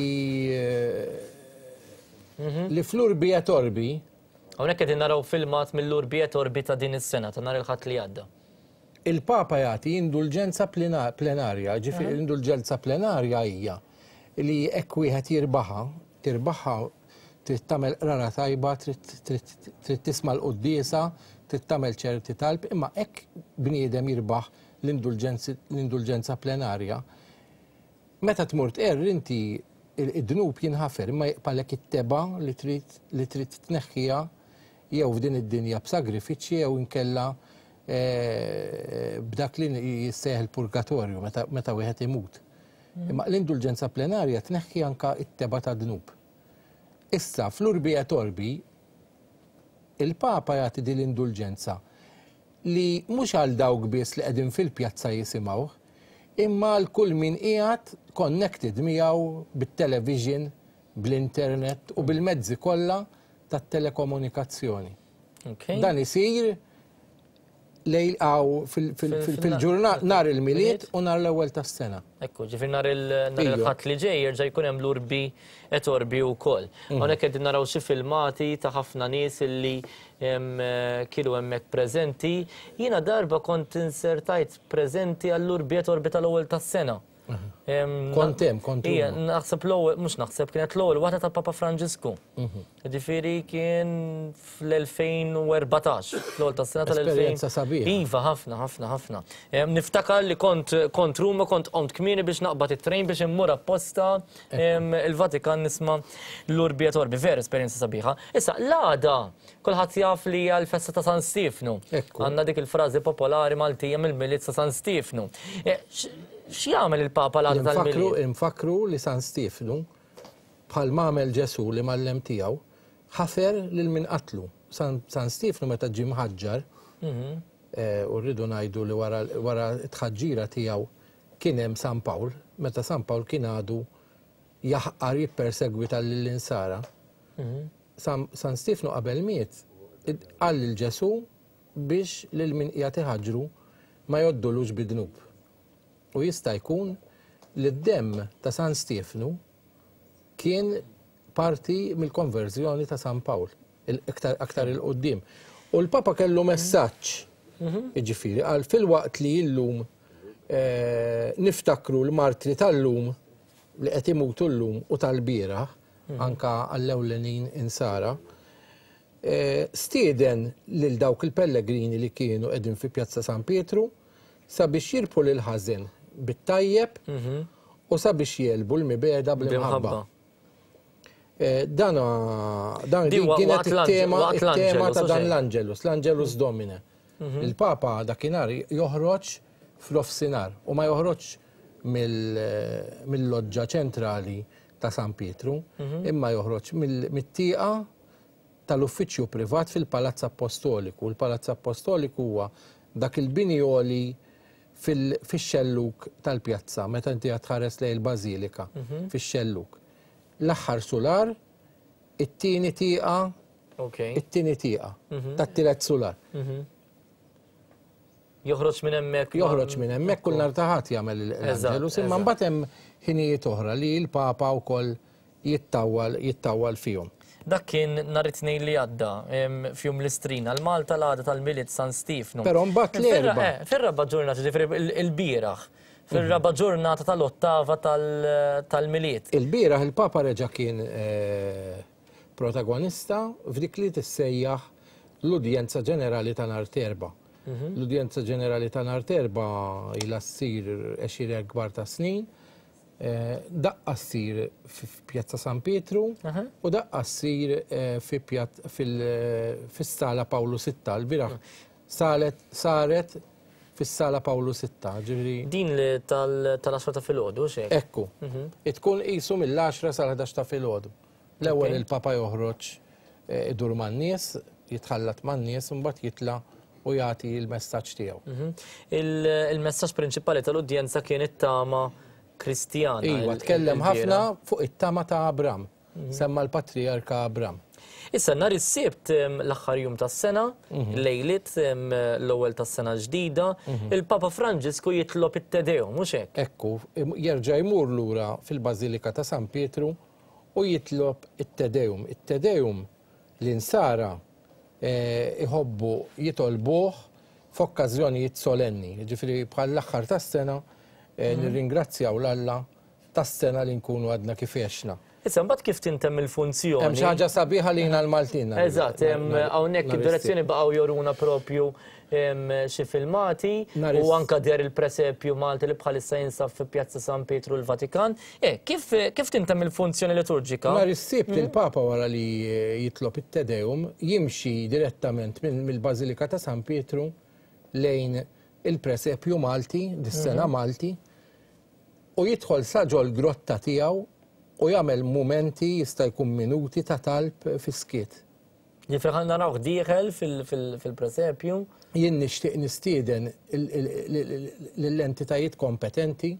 li fl-Urbi et Orbi.
Hawnhekk qegħdin naraw filmat mill-Urbi et Orbi ta' din is-sena ta' nhar il-Ħadd li għadda.
Il-Papa jagħti indulġenza plenarja, ġifieri indulġenza plenarja hija li hekk wieħed jirbaħha, tirbaħha trid tagħmel qrara tajba, trid tisma' l-quddiesa, trid tagħmel ċerti talb, imma hekk bniedem jirbaħ l-indulġenza plenarja. Meta tmur tqerr inti id-dnub jinħafer, imma jibqalek it-teba li trid tneħħiha jew f'din id-dinja b'sagrifiċċji jew inkella b'dak li jissejjaħ il-purgatorju meta wieħed imut. Imma l-indulġenza plenarja tneħħi anka it-teba ta' dnub. Issa fl-Urbi et Orbi il-Papa jagħti din l-indulġenza li mhux għal dawk biss li qegħdin fil-pjazza jisimgħuh, imma għal kull min qiegħed connected miegħu bit-television, bl-internet u bil-mezzi kollha tat-telekomunikazzjoni. Dan isir Lejl għaw fil-ġurnata nhar il-Milied u nhar l-ewwel tas-sena.
Ekku, ġifieri nhar il-Ħadd li ġej jerġa' jkun hemm l-Urbi et Orbi wkoll. Hawnhekk qegħdin naraw xi filmati ta' ħafna nies illi kienu hemmhekk preżenti. Jiena darba kont insertajt preżenti għall-Urbi et Orbi tal-ewwel tas-sena.
Kont hemm, kont
hemm. Naħseb l-ewwel, mhux naħseb, kienet l-ewwel waħda tal-Papa Franġisku. Ġifieri kien fl-elfejn u erbatax, l-ewwel tas-sena tal-elfejn.
Esperjenza sabiħa.
Iva, ħafna, ħafna, ħafna. Niftakar li kont kont Ruma, kont qomt kmieni biex naqbad it-trejn biex immur apposta il-Vatikan nisma' l-Urbi et Orbi. Vera esperjenza sabiħa. Issa, l-għada, kulħadd jaf li hija l-festa ta' San Stiefnu. Għandna dik il-frażi popolari Maltija mill-Milied ta' San Stiefnu. X'jagħmel il-Papa l-għada tal-Milied?
Infakru li San Stiefnu, bħal m'għamel Ġesù li mallem tiegħu, ħafer lil min qatlu. San Stiefnu meta ġie mħaġġar, u rridu ngħidu li wara t-tħaġġira tiegħu kien hemm San Pawl, meta San Pawl kien għadu jaħqar jippersegwita lill-insara. San Stiefnu qabel miet qal lil Ġesù biex lil min qiegħed iħaġġru ma joddulux bidnub. U jista' jkun li d-demm ta' San Stiefnu kien parti mill-konverżjoni ta' San Pawl, aktar il-qoddim. U l-Papa kellu messaġġ, jiġifieri, għal fil-waqt li llum niftakru l-martri tal-lum li qed imutu llum u tal-bieraħ, anka għall-ewlenin insara, stieden lil dawk il-pellegrini li kienu qegħdin fi Pjazza San Pietru sabiex jirbħu lil ħażin bit-tajjeb u sabiex jelbu l-mibeda bl-imħabba. Dan din kienet it-tema it-tema ta' dan l-Angelus, l-Angelus Domine. Il-Papa dakinhar joħroġ fl-offsinar u ma joħroġ mill-loġġa ċentrali ta' San Pietru, imma joħroġ mit-tieqa tal-uffiċċju privat fil-Palazz Apostoliku. Il-Palazz Apostoliku huwa dak il-bini għoli fix-xelluk tal-pjazza, meta inti qed tħares lejn il-Bażilika, fix-xelluk. L-aħħar sular, it-tieni tieqa, it-tieni tieqa tat-tielet sular.
Joħroġ minn hemmhekk.
Joħroġ minn hemmhekk kull nhar ta' Ħadd jagħmel l-Angelus, imma mbagħad hemm ħinijiet oħra li l-Papa wkoll jittawwal jittawwal fihom.
Dak kien nhar it-Tnejn li għadda f'jum l-Istrina, l-Malta l-għada tal-Milied San Stiefnu.
Però mbagħad l-erba'.
Fir-raba' ġurnata, ġifieri il-bieraħ, fir-raba' ġurnata tal-ottava tal-Milied.
Il-bieraħ il-Papa reġa' kien protagonista f'dik li tissejjaħ l-Udjenza Ġenerali ta' nhar t'Erbgħa. L-Udjenza Ġenerali ta' nhar t'Erbgħa ilha ssir għexieren kbar ta' snin. Daqqa ssir f'Pjazza San Pietru u daqqa ssir fis-Sala Pawlu Sitta. L-bieraħ saret fis-Sala Pawlu Sitta, ġifieri.
Din li tal-għaxra ta' filgħodu, x'hekk?
Ekku. Tkun qisu mill-għaxra sal-ħdax ta' filgħodu. L-ewwel il-Papa joħroġ idur man-nies, jitħallat man-nies u mbagħad jitla' u jagħti l-messaġġ tiegħu.
Il-messaġġ prinċipali tal-udjenza kien it-tama Kristjana.
Iva, tkellem ħafna fuq it-tama ta' Abram, semma l-Patrijarka Abram.
Issa nhar is-Sibt l-aħħar jum tas-sena, lejliet l-ewwel tas-sena ġdida, il-Papa Franġisku jitlob it-Te Deum, mhux hekk?
Ekku, jerġa' jmur lura fil-Bażilika ta' San Pietru u jitlob it-Te Deum. It-Te Deum l-insara iħobbu jitolbuh f'okkażjonijiet solenni, ġifieri bħal l-aħħar tas-sena nirringrazzjaw l-Alla tas-sena li nkunu għadna kif għexna.
Issa mbagħad kif tintemm il-funzjoni?
Hemm xi ħaġa sabiħa lina l-Maltin.
Eżatt, hawnhekk id-direzzjoni baqgħu joruna propju xi filmati u anka der il-presepju Malti li bħalissa jinsab fi Pjazza San Pietru l-Vatikan. Eh, kif kif tintemm il-funzjoni liturġika?
Nhar is-Sibt il-Papa wara li jitlob it-Te Deum jimxi direttament mill-Bażilika ta' San Pietru lejn il-presepju Malti, dis-sena Malti, u jidħol sa ġol grotta tiegħu u jagħmel mumenti jista' jkun minuti ta' talb fis-skiet.
Ġifieri ħa narawh dieħel fil-presepju.
Jien nixtieq nistieden lill-entitajiet kompetenti.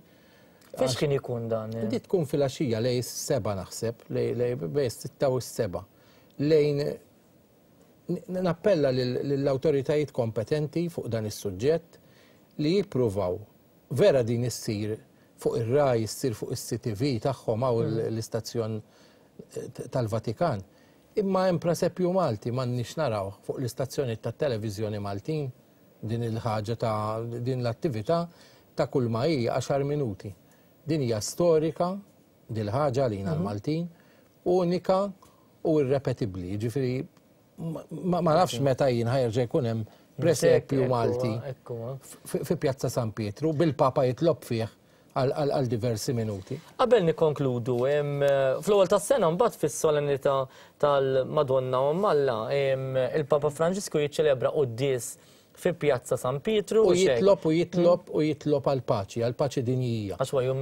Fiex kien ikun dan?
Di tkun filgħaxija lejn is-seba' naħseb, lejn bejn is-sitta u s-seba'. Lejn Nappella lill-awtoritajiet kompetenti fuq dan is-suġġett li jippruvaw vera din issir fuq ir-RAI, issir fuq is-C T V tagħhom hawn l-istazzjon tal-Vatikan. Imma hemm presepju Malti m'għandniex naraw fuq l-istazzjoni tat-televiżjoni Maltin din il-ħaġa ta' din l-attività ta' kull ma hi għaxar minuti. Din hija storika dil-ħaġa lina l-Maltin, unika u irrepetibbli. Jiġifieri ma nafx meta jien ħajerġa' jkun hemm presepju Malti fi Pjazza San Pietru bil-Papa jitlob fih għal diversi minuti.
Qabel nikkonkludu, fl-ewwel tas-sena mbagħad fis-solennità tal-Madonna u Malla, il-Papa Franġisku jiċċelebra quddies fi Pjazza San Pietru.
U jitlob u jitlob u jitlob għall-paċi, għall-paċi dinjija.
Għax huwa jum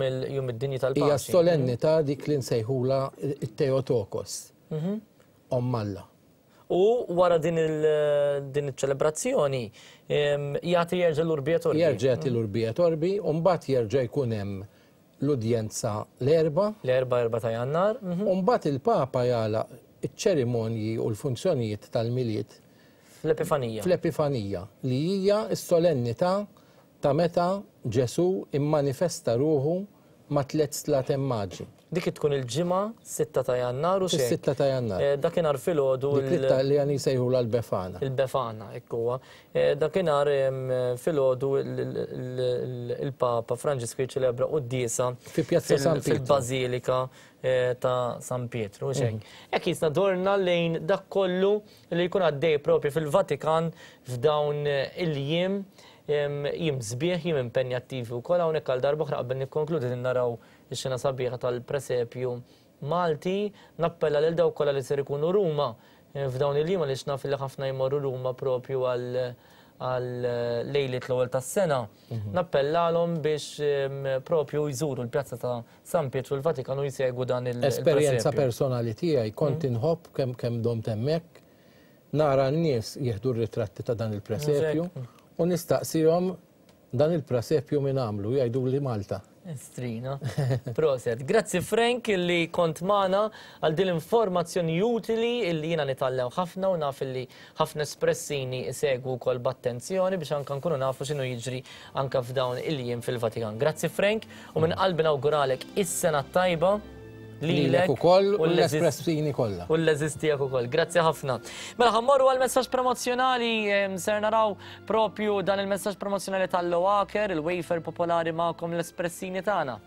id-dinji tal-paċi.
Hija solennità dik li nsejħula it-Teotokos, Omm Alla.
U wara din il-ċelebrazzjoni jagħti jerġa' l-Urbi et Orbi.
Jerġa' jagħti l-Urbi et Orbi, u mbagħad jerġa' jkun hemm l-udjenza l-erba'.
L-erba' erba' ta' Jannar.
U mbagħad il-Papa jagħlaq iċ-ċerimonji u l-funzjonijiet tal-Milied.
Fl-Epifanija.
Fl-Epifanija, li hija s-solennità ta' meta Ġesù immanifesta ruħu ma' tliet slaten maġi.
Dik tkun il-ġimgħa sitta ta' Jannar u xejn.
Sitta ta' Jannar.
Dakinhar filgħodu.
Dik li għani sejħula l-Befana.
Il-Befana, hekk huwa. Dakinhar filgħodu il-Papa Franġisku jiċċelebra quddiesa
fi Pjazza San Pietru.
Fil-Bażilika ta' San Pietru. Hekk jisna dorna lejn dak kollu li jkun għaddej propju fil-Vatikan f'dawn il-jiem. Jiem sbieħ, jiem impenjattivi wkoll hawnhekk għal darba oħra qabel nikkonkludi li naraw ix-xena sabiħa tal-presepju Malti. Nappella lil dawk kollha li ser ikunu Ruma f'dawn il-jiem għaliex naf li ħafna jmorru Ruma propju għal lejliet l-ewwel tas-sena. Nappellalhom biex propju jżuru l-Pjazza ta' San Pietru l-Vatikan u jsegwu dan il-presepju.
Esperjenza personali tiegħi kont inħobb kemm kemm domt hemmhekk nara n-nies jieħdu r-ritratti ta' dan il-presepju. U nistaqsihom dan il-presepju min għamlu, jgħidu li Malta.
Strina. Proset. Grazzi Frank illi kont magħna għal din l-informazzjoni utili illi jiena nitgħallem ħafna u naf illi ħafna espressini isegwu wkoll b'attenzjoni biex anke nkunu nafu x'inhu jiġri anke f'dawn il-jiem fil-Vatikan. Grazzi Frank u minn qalbi nawguralek is-sena tajba
lilek ukoll u l-espressini kollha.
U l-eżis tiegħek ukoll. Grazzi ħafna. Mela ħa mmorru għal messaġġ promozzjonali, ser naraw propju dan il-messaġġ promozzjonali tal-Loacker, il-wafer popolari magħkom l-espressini tagħna.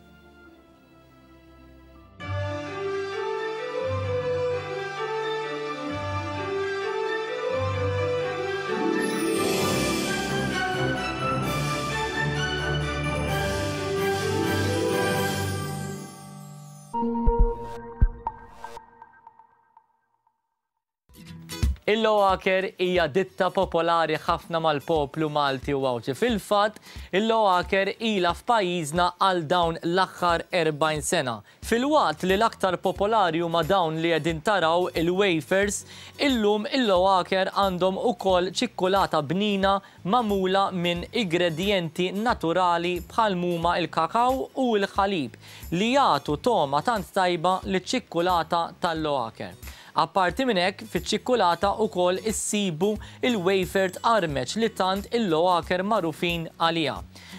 Il-Loacker hija ditta popolari ħafna mal-poplu Malti u Għawdxi. Fil-fatt, il-Loacker ilha f'pajjiżna għal dawn l-aħħar erbgħin sena. Filwaqt li l-aktar popolari huma dawn li qegħdin taraw il-wafers, illum il-Loacker għandhom ukoll ċikkulata bnina magħmula minn ingredjenti naturali bħal huma il-kakaw u l-ħalib li jagħtu togħma tant tajba liċ-ċikkulata tal-Loacker. Apparti minn hekk, fiċ-ċikkulata wkoll issibu il-wafer tqarmeċ li tant il-Loacker magħrufin għaliha.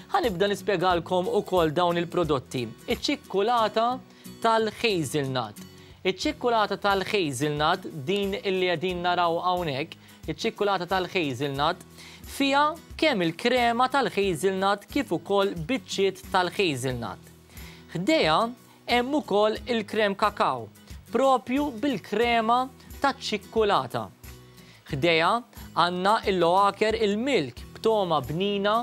Ħa nibda nispjegalkom ukoll dawn il-prodotti. Iċ-ċikkulata tal-hazelnut. Iċ-ċikkulata tal-hazelnut, din illi qegħdin naraw hawnhekk, iċ-ċikkulata tal-hazelnut fiha kemm il-krema tal-hazelnut kif ukoll biċċiet tal-hazelnut. Ħdejha hemm ukoll il-krem kakaw, propju bil-krema ta' ċikkulata. Ħdejha għandna il-Loacker il-milk b'toma bnina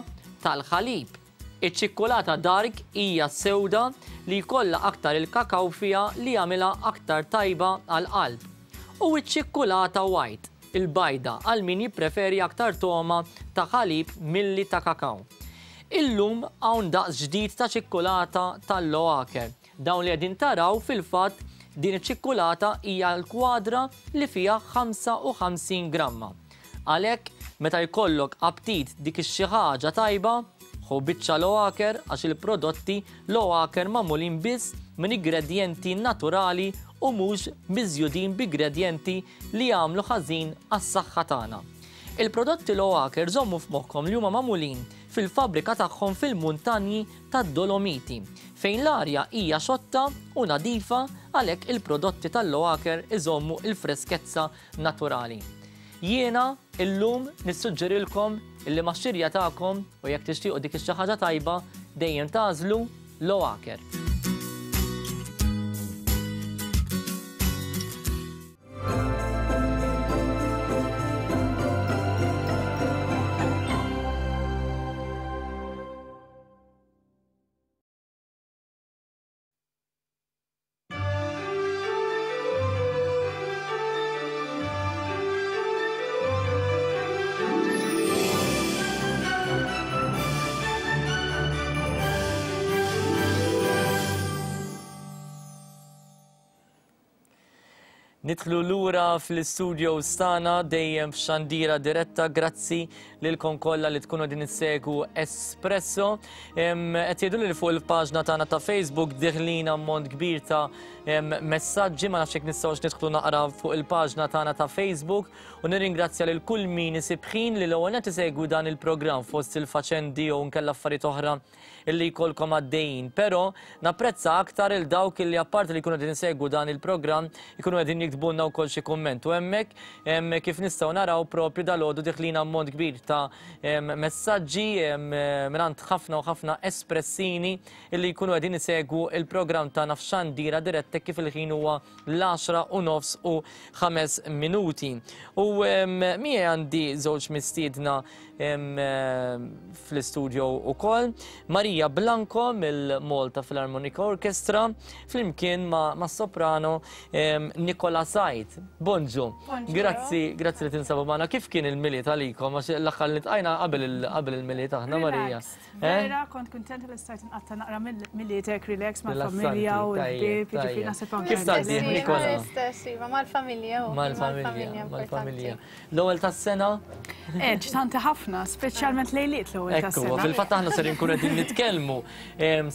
tal-ħalib. Iċ-ċikkulata dark hija sewda li jkollha aktar il-kakaw fiha li jagħmilha aktar tajba għall-qalb. U iċ-ċikkulata white, il-bajda, għal min jippreferi aktar toma ta' ħalib milli ta' kakaw. Illum hawn daqs ġdid ta' ċikkulata tal-Loacker. Dawn li qegħdin taraw fil-fatt din iċ-ċikkulata hija l-kwadra li fiha ħamsa u ħamsin gramma. Għalhekk meta jkollok aptit dik ix-xi ħaġa tajba, ħu biċċa Loacker għax il-prodotti Loacker magħmulin biss minn ingredjenti naturali u mhux miżjudin b'ingredjenti li jagħmlu ħażin għas-saħħa tagħna. Il-prodotti Loacker żommu f'moħħkom li huma magħmulin fil-fabbrika tagħhom fil-muntanji tad-Dolomiti, fejn l-arja hija xotta u nadifa, għalhekk il-prodotti tal-Loacker iżommu il-freskezza naturali. Jiena illum nissuġġerilkom illi max-xirja tagħkom u jekk tixtiequ dik ix-xi ħaġa tajba dejjem tagħżlu Loacker. Nidħlu lura fl-istudio stana dejjem f'xandira diretta, grazzi lilkom kollha li tkunu din issegwu Espresso. Qed jgħidu li fuq il-paġna tagħna ta' Facebook diħlin ammont kbir ta' messaġġi, ma nafx jekk nistgħux nidħlu naqra fuq il-paġna tagħna ta' Facebook, u nirringrazzja lil kull min isib ħin li l-ewwel qed isegwu dan il-programm fost il-faċendi jew nkella affarijiet oħra illi jkollkom għaddejjin. Però napprezza aktar il dawk illi apparti li jkunu qegħdin isegwu dan il-programm ikunu qegħdin jiktbulna wkoll xi kumment. U hemmhekk kif nistgħu naraw propju dalgħodu diħlin ammont kbir ta' messaġġi mingħand ħafna u ħafna espressini illi jkunu qegħdin isegwu il-programm tagħna f'xandira diretta kif il-ħin huwa l-għaxra u nofs u ħames minuti. U miegħi għandi żewġ mistiedna fl-istudio ukoll, Maria Blanco mill-Malta Philharmonic Orchestra flimkien ma', ma soprano Nicola Said. Bonġu. Grazzi, grazzi li tinsabu magħna. Kif kien il-Milied għalikom? Għax l-aħħar li tqajna qabel qabel il-Milied aħna, Marija.
Vera, kont kuntenta li stajt nqatta' naqra Milied hekk relax mal-familja u l-ħbieb, jiġifieri naħseb anke.
Kif tgħaddi, Nicola?
L-istess, iva, mal-familja.
Mal-familja, mal-familja. L-ewwel tas-sena?
Eh, ġtanti ħafna, speċjalment lejliet l-ewwel tas-sena.
Ekku, fil-fatt aħna ser inkunu qegħdin nitkellmu,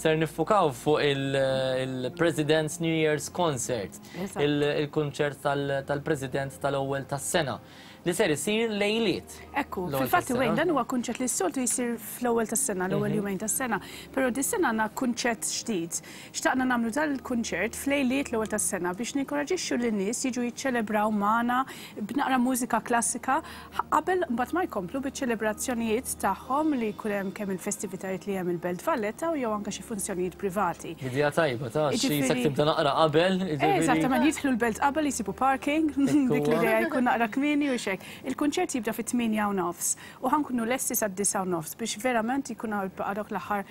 ser niffukaw fuq il-President's New Year's Concert, il-kunċert tal-President tal-ewwel tas-sena li ser isir lejliet.
Ekku, fil-fatt Wayne, dan huwa kunċett li s-soltu jsir fl-ewwel tas-sena, l-ewwel jumejn tas-sena, però dis-sena għandna kunċett ġdid. Xtaqna nagħmlu dal-kunċert f'lejliet l-ewwel tas-sena biex ninkoraġixxu lin-nies jiġu jiċċelebraw magħna b'naqra mużika klassika qabel mbagħad ma jkomplu biċ-ċelebrazzjonijiet tagħhom li jkun hemm kemm il-festivitajiet li hemm il-Belt Valletta u jew anke xi funzjonijiet privati.
Idea tajba ta' xi se tibda naqra qabel.
Eżattament, jidħlu l-belt qabel jsibu parking, dik l-idea jkun naqra kmieni u xejn. Il-kunċert jibda fit-tmienja u nofs u ħankunu lesti sad-disgħa u nofs biex verament jkun dawk l-aħħar.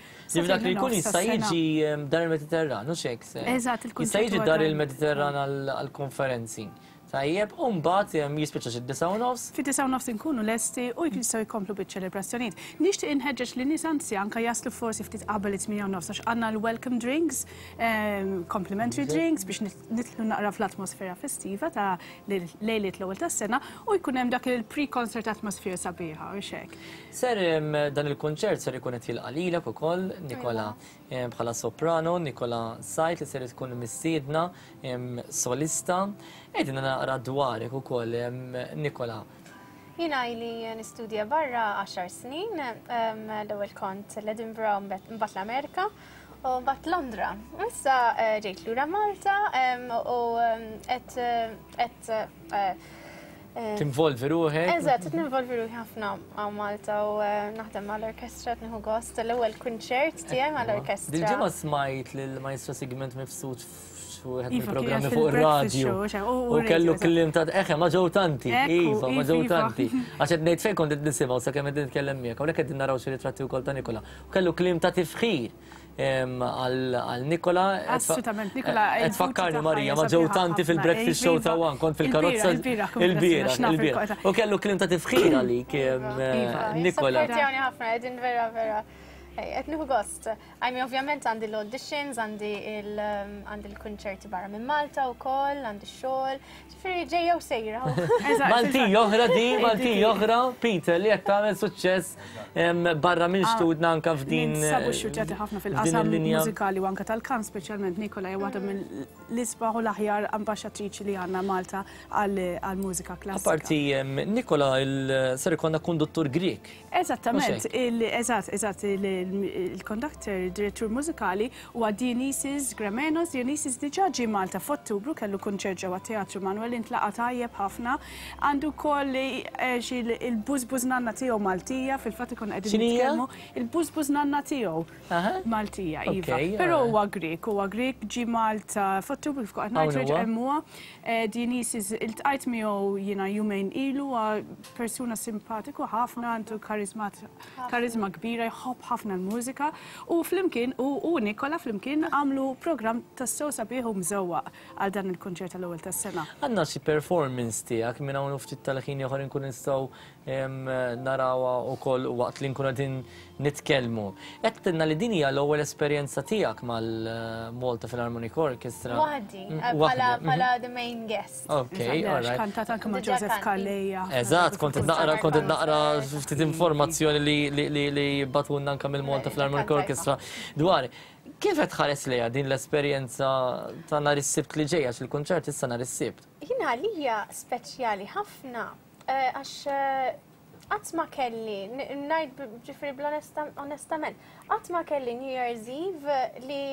Dak li jkun jista' jiġi Dar il-Mediterran, u xejk se.
Eżatt, il-kunċert.
Jista' jiġi Dar il-Mediterran għall-konferenzi. Tajjeb, u mbagħad jispiċċa xi disgħa u nofs.
Fid-disgħa u nofs inkunu lesti u jistgħu jkomplu biċ-ċelebrazzjonijiet. Nixtieq inħeġġeġ li nies anzi anke jaslu forsi ftit qabel it-tmienja u nofs għax għandna l-welcome drinks, complimentary drinks biex nidħlu naqra fl-atmosfera festiva ta' lejliet l-ewwel tas-sena u jkun hemm dak il-pre-concert atmosphere sabiħa u xek.
Ser dan il-kunċert ser ikun qed jilqa' lilek ukoll, Nicola, bħala soprano, Nicola Said li ser tkun mistiedna solista. Qegħdin naqra dwarek ukoll, Nicola.
Jiena ili nistudja barra għaxar snin, l-ewwel kont l-Edinburgh, mbagħad l-Amerika u mbagħad Londra. Issa ġejt lura Malta u qed qed
tinvolvi ruħek.
Eżatt, qed ninvolvi ruħi ħafna għaw Malta u naħdem mal-orkestra, qed nieħu gost l-ewwel kunċert tiegħi mal-orkestra.
Dil-ġimgħa smajt lill-Maestro Sigmund Mifsud f'wieħed mill-programmi fuq ir-radju. U kellu kliem ta' eħe ma ġew tanti, iva, ma ġew tanti. Għax qed ngħid fejn kont qed nisimgħu sakemm qed nitkellem miegħek, hawnhekk qegħdin naraw xi ritratti wkoll ta' Nicola. U kellu kliem ta' tifħir għal Nicola.
Assolutament, Nicola.
Qed tfakkarni Marija, ma ġew tanti fil-breakfast show ta' One, kont fil-karozza il-bieraħ, il-bieraħ. U kellu kliem ta' tifħir għalik Nicola.
Supportjawni ħafna, qegħdin vera vera. Qed nieħu gost. Għajmi ovvjament għandi l-auditions, għandi l-kunċerti barra minn Malta wkoll, għandi x-xogħol. Ġifieri ġejja u sejra.
Malti oħra di, Malti oħra, Peter li qed tagħmel suċċess barra minn xtudna anke f'din.
Sabu xxurtjati ħafna fil-qasam mużikali u anke tal-kant, speċjalment Nicola hija waħda mill l-isbaħ u l-aħjar ambaxxatriċi li għandna Malta għall-mużika klassika.
Apparti, Nikola, ser ikollna konduttur Grek.
Eżattament, eżatt, eżatt, il-konduktor, il-direttur mużikali huwa Dionysis Gramenos. Dionysis diġà ġie Malta f'Ottubru, kellu kunċert ġewwa Teatru Manuel, intlaqa' tajjeb ħafna. Għandu wkoll il-bużbuż nanna tiegħu Maltija, fil-fatt ikun qegħdin nitkellmu. Il-bużbuż nanna tiegħu Maltija, iva. Però huwa Grek, huwa Grek ġie Malta f'Ottubru kif qed ngħid hemm huwa. Dionysis iltqajt miegħu jiena jumejn ilu, persuna simpatiku ħafna, għandu karizma kbira, jħobb ħafna l-mużika u flimkien u Nikola flimkien għamlu programm tassew sabiħ u mżewwaq għal dan il-kunċert tal-ewwel tas-sena.
Għandna xi performance tiegħek minn hawn ftit tal-ħin ieħor inkun nistgħu narawha wkoll waqt li nkunu qegħdin nitkellmu. Qed tgħidilna li din hija l-ewwel esperjenza tiegħek mal-Malta Philharmonic Orchestra.
Waħdi, bħala the main guest.
Ok, all right.
Kantat anke ma' Joseph Calleja.
Eżatt, kont qed naqra kont qed naqra ftit informazzjoni li li li batunna anke mill-Malta Philharmonic Orchestra dwar kif qed tħares lejha din l-esperjenza ta' nhar is-Sibt li ġej, għax il-kunċert issa nhar is-Sibt.
Jiena għalija speċjali ħafna għax qatt ma kelli, ngħid ġifieri bl-onestament, qatt ma kelli New Year's Eve li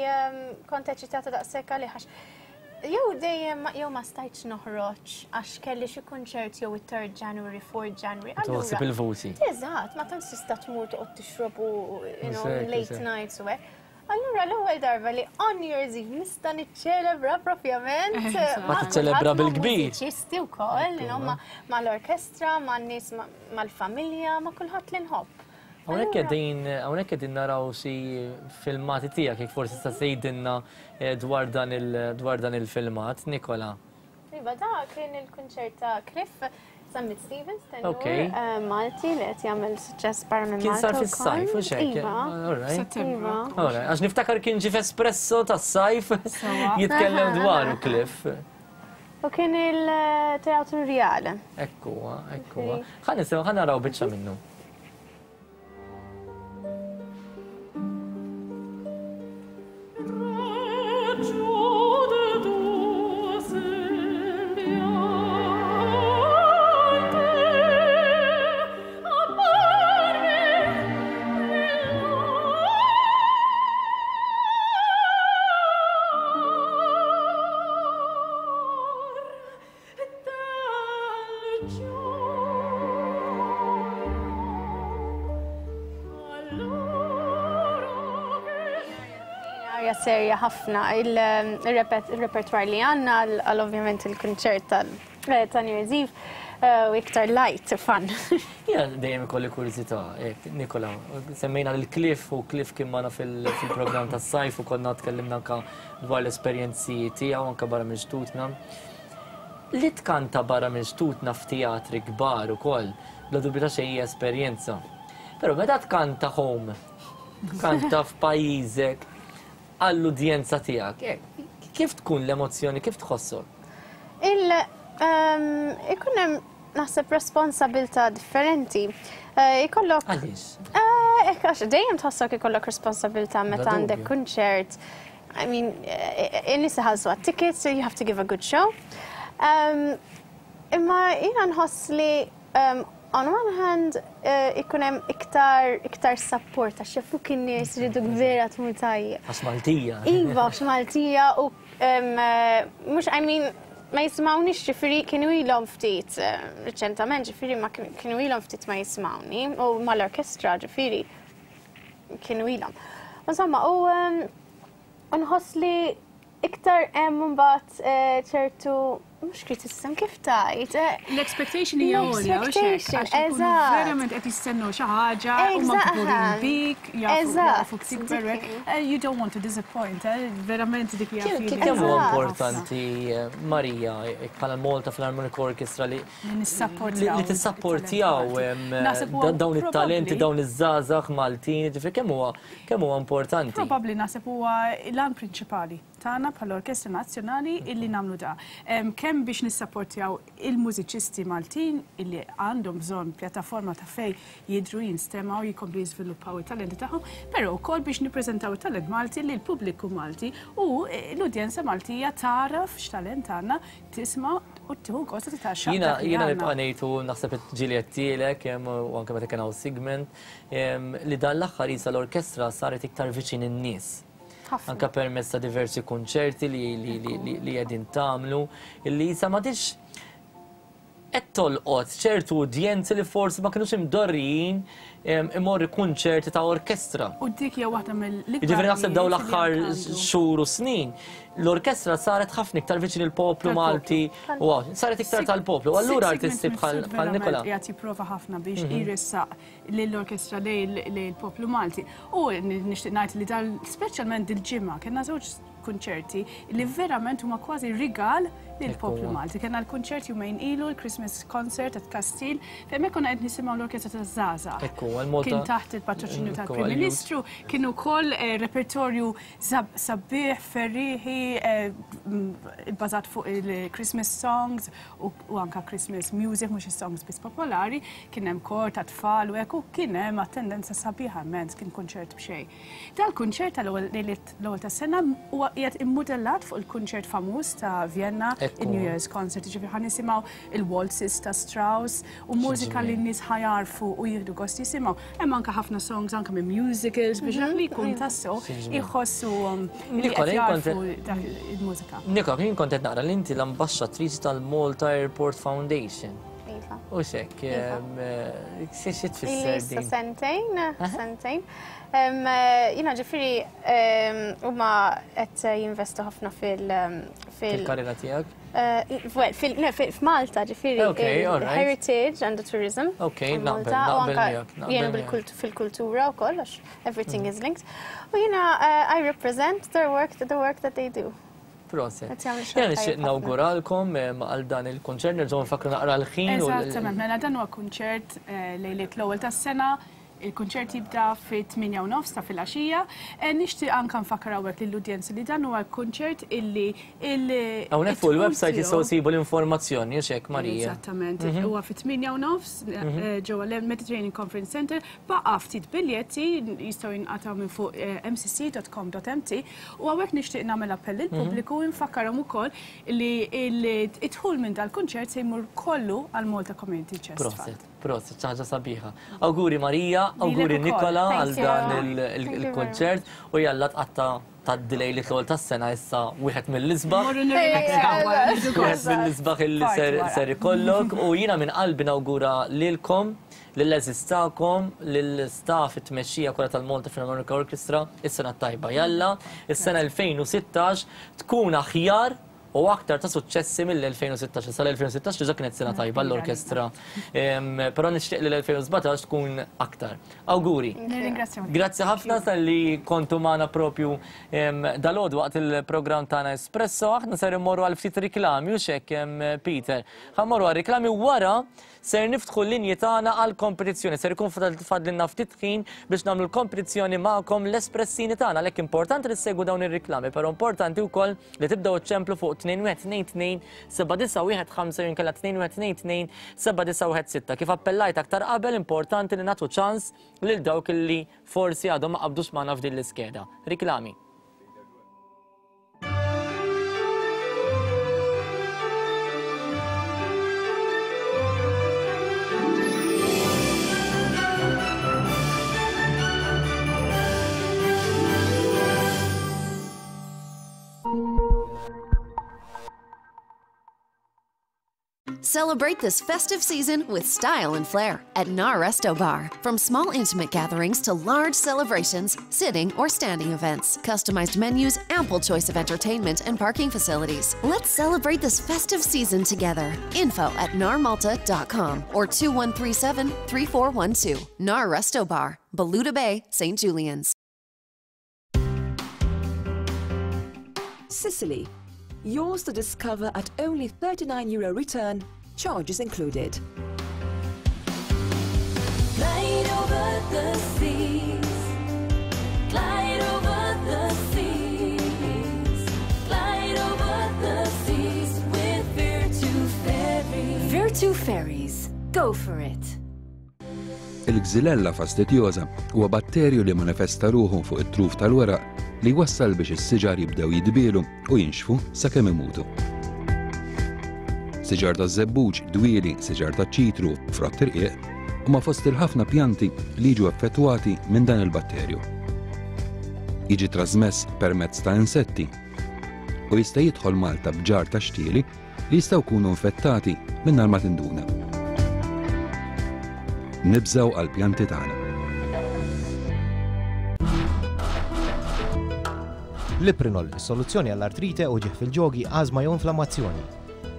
kont eċitata daqshekk għalih għax jew dejjem jew ma stajtx noħroġ għax kelli xi kunċert jew it-third January, fourth January.
Toħsib il-voti.
Eżatt, ma tantx tista' tmur toqgħod tixrob u late nights u hekk. Allura l-ewwel darba li on New Year's Eve nista' niċċelebra propjament.
Ma tiċċelebra bil-kbir.
Mużiċisti wkoll, mal-orkestra, man-nies, mal-familja, ma' kulħadd li nħobb.
Hawnhekk qegħdin hawnhekk qegħdin naraw xi filmati tiegħek jekk forsi tista' tgħidilna dwar dan il dwar dan il-filmat, Nikola.
Iva, da kien il-kunċert ta' Cliff Zammit Stevens, tenur Malti li qed jagħmel suċċess barra minn Malta.
Kien sar fis-sajf u xejn.
Settembru.
Għax niftakar kien ġie f'Espresso tas-sajf jitkellem dwaru Cliff.
U kien il-Teatru Rjale.
Ekku, ekku. Ħa nisimgħu, ħa naraw biċċa minnu.
Serja ħafna il-repertwar li għandna għal ovvjament il-kunċert ta' New Year's Eve u iktar light fun.
Ja, dejjem ikolli kurżità, Nikola, semmejna l-Cliff u Cliff kien magħna fil-programm tas-sajf u konna tkellimna anke dwar l-esperjenzi tiegħu anke barra minn xtutna. Li tkanta barra minn xtutna f'teatri kbar ukoll, bla dubju ta' xejn hija esperjenza. Però meta tkanta home, tkanta f'pajjiżek, għall-udjenza tiegħek, kif tkun l-emozzjoni, kif tħossok?
Il ikun hemm naħseb responsabilità differenti. Ikollok.
Għaliex?
Għax dejjem tħossok ikollok responsabilità meta għandek kunċert. I mean, in-nies iħallsu għat-tickets, so you have to give a good show. Imma jiena nħoss li on one hand, ikun hemm iktar iktar support għax jafuk in-nies iridu vera tmur tajjeb.
Għax Maltija.
Iva, għax Maltija u mhux I mean ma jisimgħunix ġifieri kienu ilhom ftit riċentament ġifieri ma kienu ilhom ftit ma jisimgħuni u mal-orkestra ġifieri kienu ilhom. Insomma, u nħoss li iktar hemm imbagħad ċertu mhux criticism kif tajt.
L-expectation hija għolja, eżatt. Verament qed jistennu xi ħaġa u ma kburin bik, jafu tikber. You don't want to disappoint, verament dik hija.
Kemm huwa importanti, Marija, bħala Malta Philharmonic Orchestra li li tissapportjaw dawn it-talenti, dawn iż-żgħażagħ Maltin, ġifieri kemm huwa kemm huwa importanti.
Probabbli naħseb huwa l-għan prinċipali tagħna bħala Orkestra Nazzjonali illi nagħmlu da. Kemm biex nissapportjaw il-mużiċisti Maltin illi għandhom bżonn pjattaforma ta' fej jidru, jinstemaw, jikomplu jiżviluppaw it-talenti tagħhom, però wkoll biex nippreżentaw it-talent Malti lil pubbliku Malti u l-udjenza Maltija taraf x'talent għandna, tisma' u tieħu gost titgħaxxaq.
Jiena jiena nibqa' ngħid u naħseb ġieli għedtilek u anke meta kien hawn Sigmund li dan l-aħħar isa l-orkestra saret iktar viċin in-nies. Anka permezz ta' diversi konċerti li qegħdin tagħmlu, illi isa m'għadix qed tolqot ċertu udjenzi li forsi ma kinux imdorrijin imorru kunċerti ta' orkestra.
U dik hija waħda mill-ikbar.
Jiġifieri naħseb dawn l-aħħar xhur u snin, l-orkestra saret ħafna iktar viċin il-poplu Malti u saret iktar tal-poplu. Allura artisti bħal Nikola.
Qiegħed jipprova ħafna biex jressaq lill-orkestra lejn il-poplu Malti. U nixtieq ngħid li dal speċjalment dil-ġimgħa kellna żewġ kunċerti li verament huma kważi rigal lill-poplu Malti. Kellna l-kunċert jumejn ilu, l-Christmas concert at Kastil, fejn hekk konna qed nisimgħu l-orkestra taż-żgħażagħ. Kien taħt il-patroċinju tal-Prim Ministru, kien ukoll repertorju sabiħ, ferrieħi, bbażat fuq il-Christmas songs u anka Christmas music, mhux is-songs biss popolari, kien hemm kor ta' tfal u hekk u kien hemm attendenza sabiħa immens, kien kunċert b'xejn. Dal-kunċert tal-ewwel l-ewwel tas-sena huwa qiegħed immudellat fuq il-kunċert famuż ta' Vienna, il-New Year's Concert, ġifieri ħa nisimgħu il-waltzes ta' Strauss u mużika li n-nies ħajarfu u jieħdu gost jisimgħu. Hemm anke ħafna songs anke minn musicals biex dak li jkun tassew iħossuhom li qed jarfu dak il-mużika.
Nikola, jien kont qed naqra li inti l-ambaxxatriċi tal-Malta Airport Foundation. U xek, xi tfisser din?
Sentejn, sentejn. Jina ġifieri huma qed jinvestu ħafna fil-
Fil-karriera tiegħek?
F'Malta ġifieri heritage and the tourism.
Ok, naqbel, naqbel miegħek.
Jenu fil-kultura wkoll għax everything is linked. U jiena I represent their work, the work that they do.
Proset. Jena nixtieq nawguralkom għal dan il-kunċert, nerġgħu nfakru naqra l-ħin.
Eżattament, mela dan huwa kunċert lejliet l-ewwel tas-sena. Il-kunċert jibda fit-tmienja u nofs ta' filgħaxija. Nixtieq anke nfakkar hawnhekk lill-udjenza li dan huwa kunċert illi
hawnhekk fuq il-website jistgħu jsibu l-informazzjoni, hux hekk Marija?
Eżattament. Huwa fit-tmienja u nofs ġewwa l-Mediterranean Conference Center, baqa' ftit biljetti jistgħu jinqatgħu minn fuq m c c dot com dot m t u hawnhekk nixtieq nagħmel appell lill-pubbliku u nfakkarhom ukoll li d-dħul minn dal-kunċert se jmur kollu għal Malta Community Chest Fund.
Proset, xi ħaġa sabiħa. Awguri Marija, awguri Nikola għal dan il-konċert u jalla tqatta' tad-delay li l-ewwel tas-sena issa wieħed mill-isbaħ. Wieħed mill-isbaħ illi ser ikollok u jiena minn qalbi nawgura lilkom, lill-għeżież tagħkom, lill-staff it-tmexxija kollha tal-Malta Philharmonic Orchestra, is-sena t-tajba. Jalla, is-sena elfejn u sittax tkun aħjar u aktar ta' suċċessi mill-elfejn u sittax. Sa l-elfejn u sittax diġà kienet sena tajba l-orkestra. Però nixtieq li l-elfejn u sbatax tkun aktar. Awguri. Grazzi ħafna tal-li kontu magħna propju dalgħodu waqt il-programm tagħna Espresso. Aħna ser immorru għal ftit riklami u x'hekk Peter. Ħa mmorru għal riklami wara ser niftħu l-linji tagħna għal kompetizzjoni. Ser ikun fadlilna ftit ħin biex nagħmlu l-kompetizzjoni magħkom l-espressini tagħna. Għalhekk importanti li ssegwu dawn ir-riklami, però importanti wkoll li tibdew iċċemplu fuq tnejn wieħed tnejn tnejn seba' disa' wieħed ħamsa jew inkella tnejn wieħed tnejn tnejn seba' disa' wieħed sitta. Kif appellajt aktar qabel, importanti li nagħtu ċans lil dawk li forsi għadhom ma qabdux magħna f'din l-iskeda. Riklami.
Celebrate this festive season with style and flair at Nar Resto Bar. From small intimate gatherings to large celebrations, sitting or standing events, customized menus, ample choice of entertainment and parking facilities. Let's celebrate this festive season together. Info at nar malta dot com or two one three seven, three four one two. Nar Resto Bar, Balluta Bay, Saint Julian's.
Sicily, yours to discover at only thirty-nine euro return, charges included.
Glide over the seas, glide over the seas, M two Ferries. Go for it.
Il-Xylella fastidiosa huwa batterju li manifesta ruħu fuq it-truf tal-weraq li jwassal biex is-siġar jibdew jidbielu u jinxfu sakemm imutu. Siġar taż-żebbuġ, dwieli, siġar taċ-ċitru, frott irqiq huma fost il-ħafna pjanti li jiġu effettwati minn dan il-batterju. Jiġi trasmess permezz ta' insetti u jista' jidħol Malta b'ġar ta' xtieli li jistgħu jkunu infettati mingħajr ma tinduna. Nibżgħu għall-pjanti tagħna.
Liprinol, is-soluzzjoni għall-artrite u ġieħ fil-ġogi, ażma jew inflammazzjoni.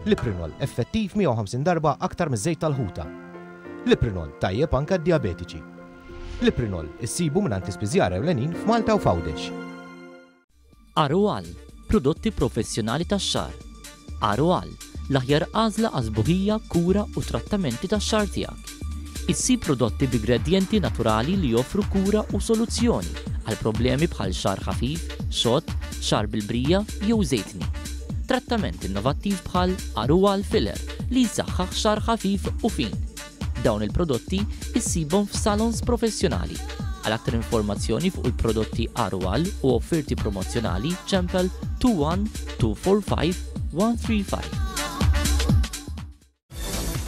Liprinol, effettiv mija u ħamsin darba aktar miż-żejt tal-ħuta. Liprinol, tajjeb anke d-diabetiċi. Liprinol, issibu mingħand l-ispiżjar ewlenin f'Malta u f'Għawdex.
Arual, prodotti professjonali tax-xagħar. Arual, l-aħjar għażla għażbuħija, kura u trattamenti tax-xagħar tiegħek. Issib prodotti b'ingredjenti naturali li joffru kura u soluzzjoni għal problemi bħal xagħar ħafif, xott, xagħar bil-brija jew żejtni. Trattament innovattiv bħal Arual Filler li jsaħħaħ xagħar ħafif u fin. Dawn il-prodotti issibhom f'salons professjonali. Għal aktar informazzjoni fuq il-prodotti Arual u offerti promozzjonali ċempel two one two four five one three five.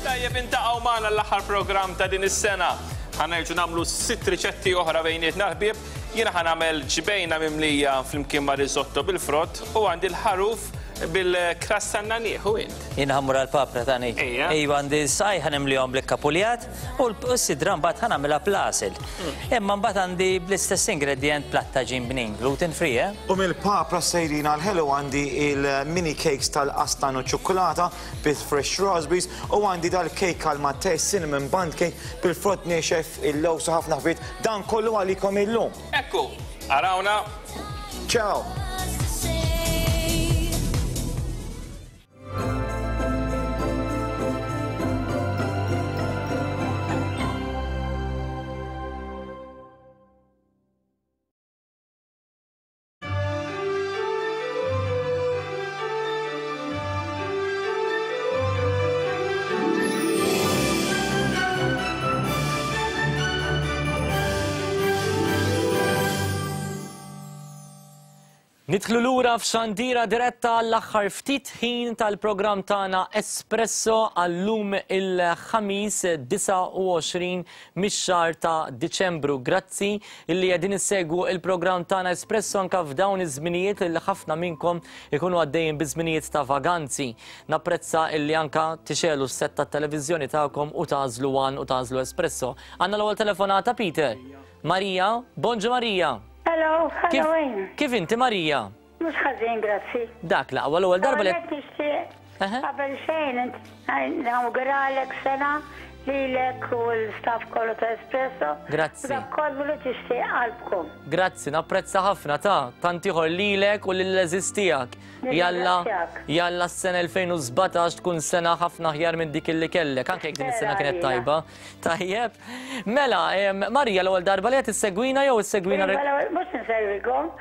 Tajjeb, intaqgħu magħna l-aħħar programm ta' din is-sena. Ħa nerġgħu nagħmlu sitt riċetti oħra bejnietna ħbieb. Jiena ħa nagħmel ġbejna mimlija flimkien ma' risotto bil-frott u għandi l-ħaruf bil-krassa naniħ u int.
Jiena ħammur għal-papra tani.
Ejja.
Ejwa, għandi saj ħanemlihom bl-kapuljat u l-sidra mbagħad ħanagħmilha bl-għasel. Imma mbagħad għandi bl-istess ingredient platta ġin bnin, gluten free, eh?
U mill-papra sejrin għal-ħelu għandi il-mini cakes tal-qastan u ċokolata bil-fresh raspberries u għandi dal-cake għal-mattej cinnamon bun cake bil-frott niexef il-lowsa ħafna ħbit. Dan kollu għalikom illum.
Ekku, arawna.
Ciao.
Nidħlu lura f'xandira diretta l-aħħar ftit ħin tal-programm tagħna Espresso għallum il-ħamis disgħa u għoxrin mix-xahar ta' Diċembru. Grazzi illi qegħdin issegwu il-programm tagħna Espresso anke f'dawn iż-żminijiet li ħafna minnkom ikunu għaddejjin bi żminijiet ta' vaganzi. Napprezza illi anke tixelu s-set tat-televiżjoni tagħkom u tagħżlu One u tagħżlu Espresso. Għandna l-ewwel telefonata, Peter. Marija, bonġu Marija.
Hello,
Kif,
hello.
kif inti Marija?
Mhux ħażin, grazzi.
Dak l-aqwa l-ewwel darba li
Għalhekk nixtieq qabel xejn nawguralek sena lilek u l-staff kollu ta' Espresso.
Grazzi.
Dak kollu li tixtieq qalbkom.
Grazzi, napprezza ħafna ta' tant ieħor lilek u lill-eżis tiegħek. Jalla,
Nirringrazzjak.
jalla s-sena elfejn u sbatax tkun sena ħafna aħjar minn dik illi kellek, anke jekk din is-sena kienet tajba. Tajjeb. Mela, em, Marija, l-ewwel darba li qed issegwina jew issegwina
Iva, l-ewwel, mhux insegwikom,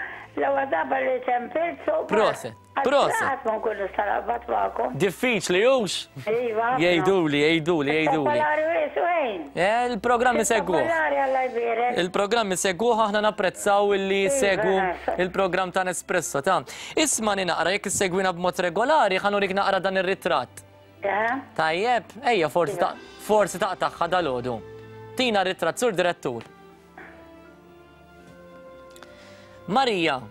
l-ewwel darba li ċempilt so
Proset, proset.
Qatt ma nkun nista' naqbad magħkom.
Diffiċli hux?
Iva, ħafna.
Jgħiduli, jgħiduli, jgħiduli.
Popolari wis, wejn?
Eh, il-programm isegwuh.
Popolari Alla jbierek.
Il-programm isegwuh, aħna napprezzaw illi
Iva,
segwu
nasa.
il-programm ta' Nespresso ta' Isma' ni naqra, jekk issegwina b'mod regolari, ħa nurik naqra dan ir-ritratt.
Aha.
Tajjeb, ejja forsi ta' forsi taqtagħha dalgħodu. Tina r-ritratt, sur direttur. Marija.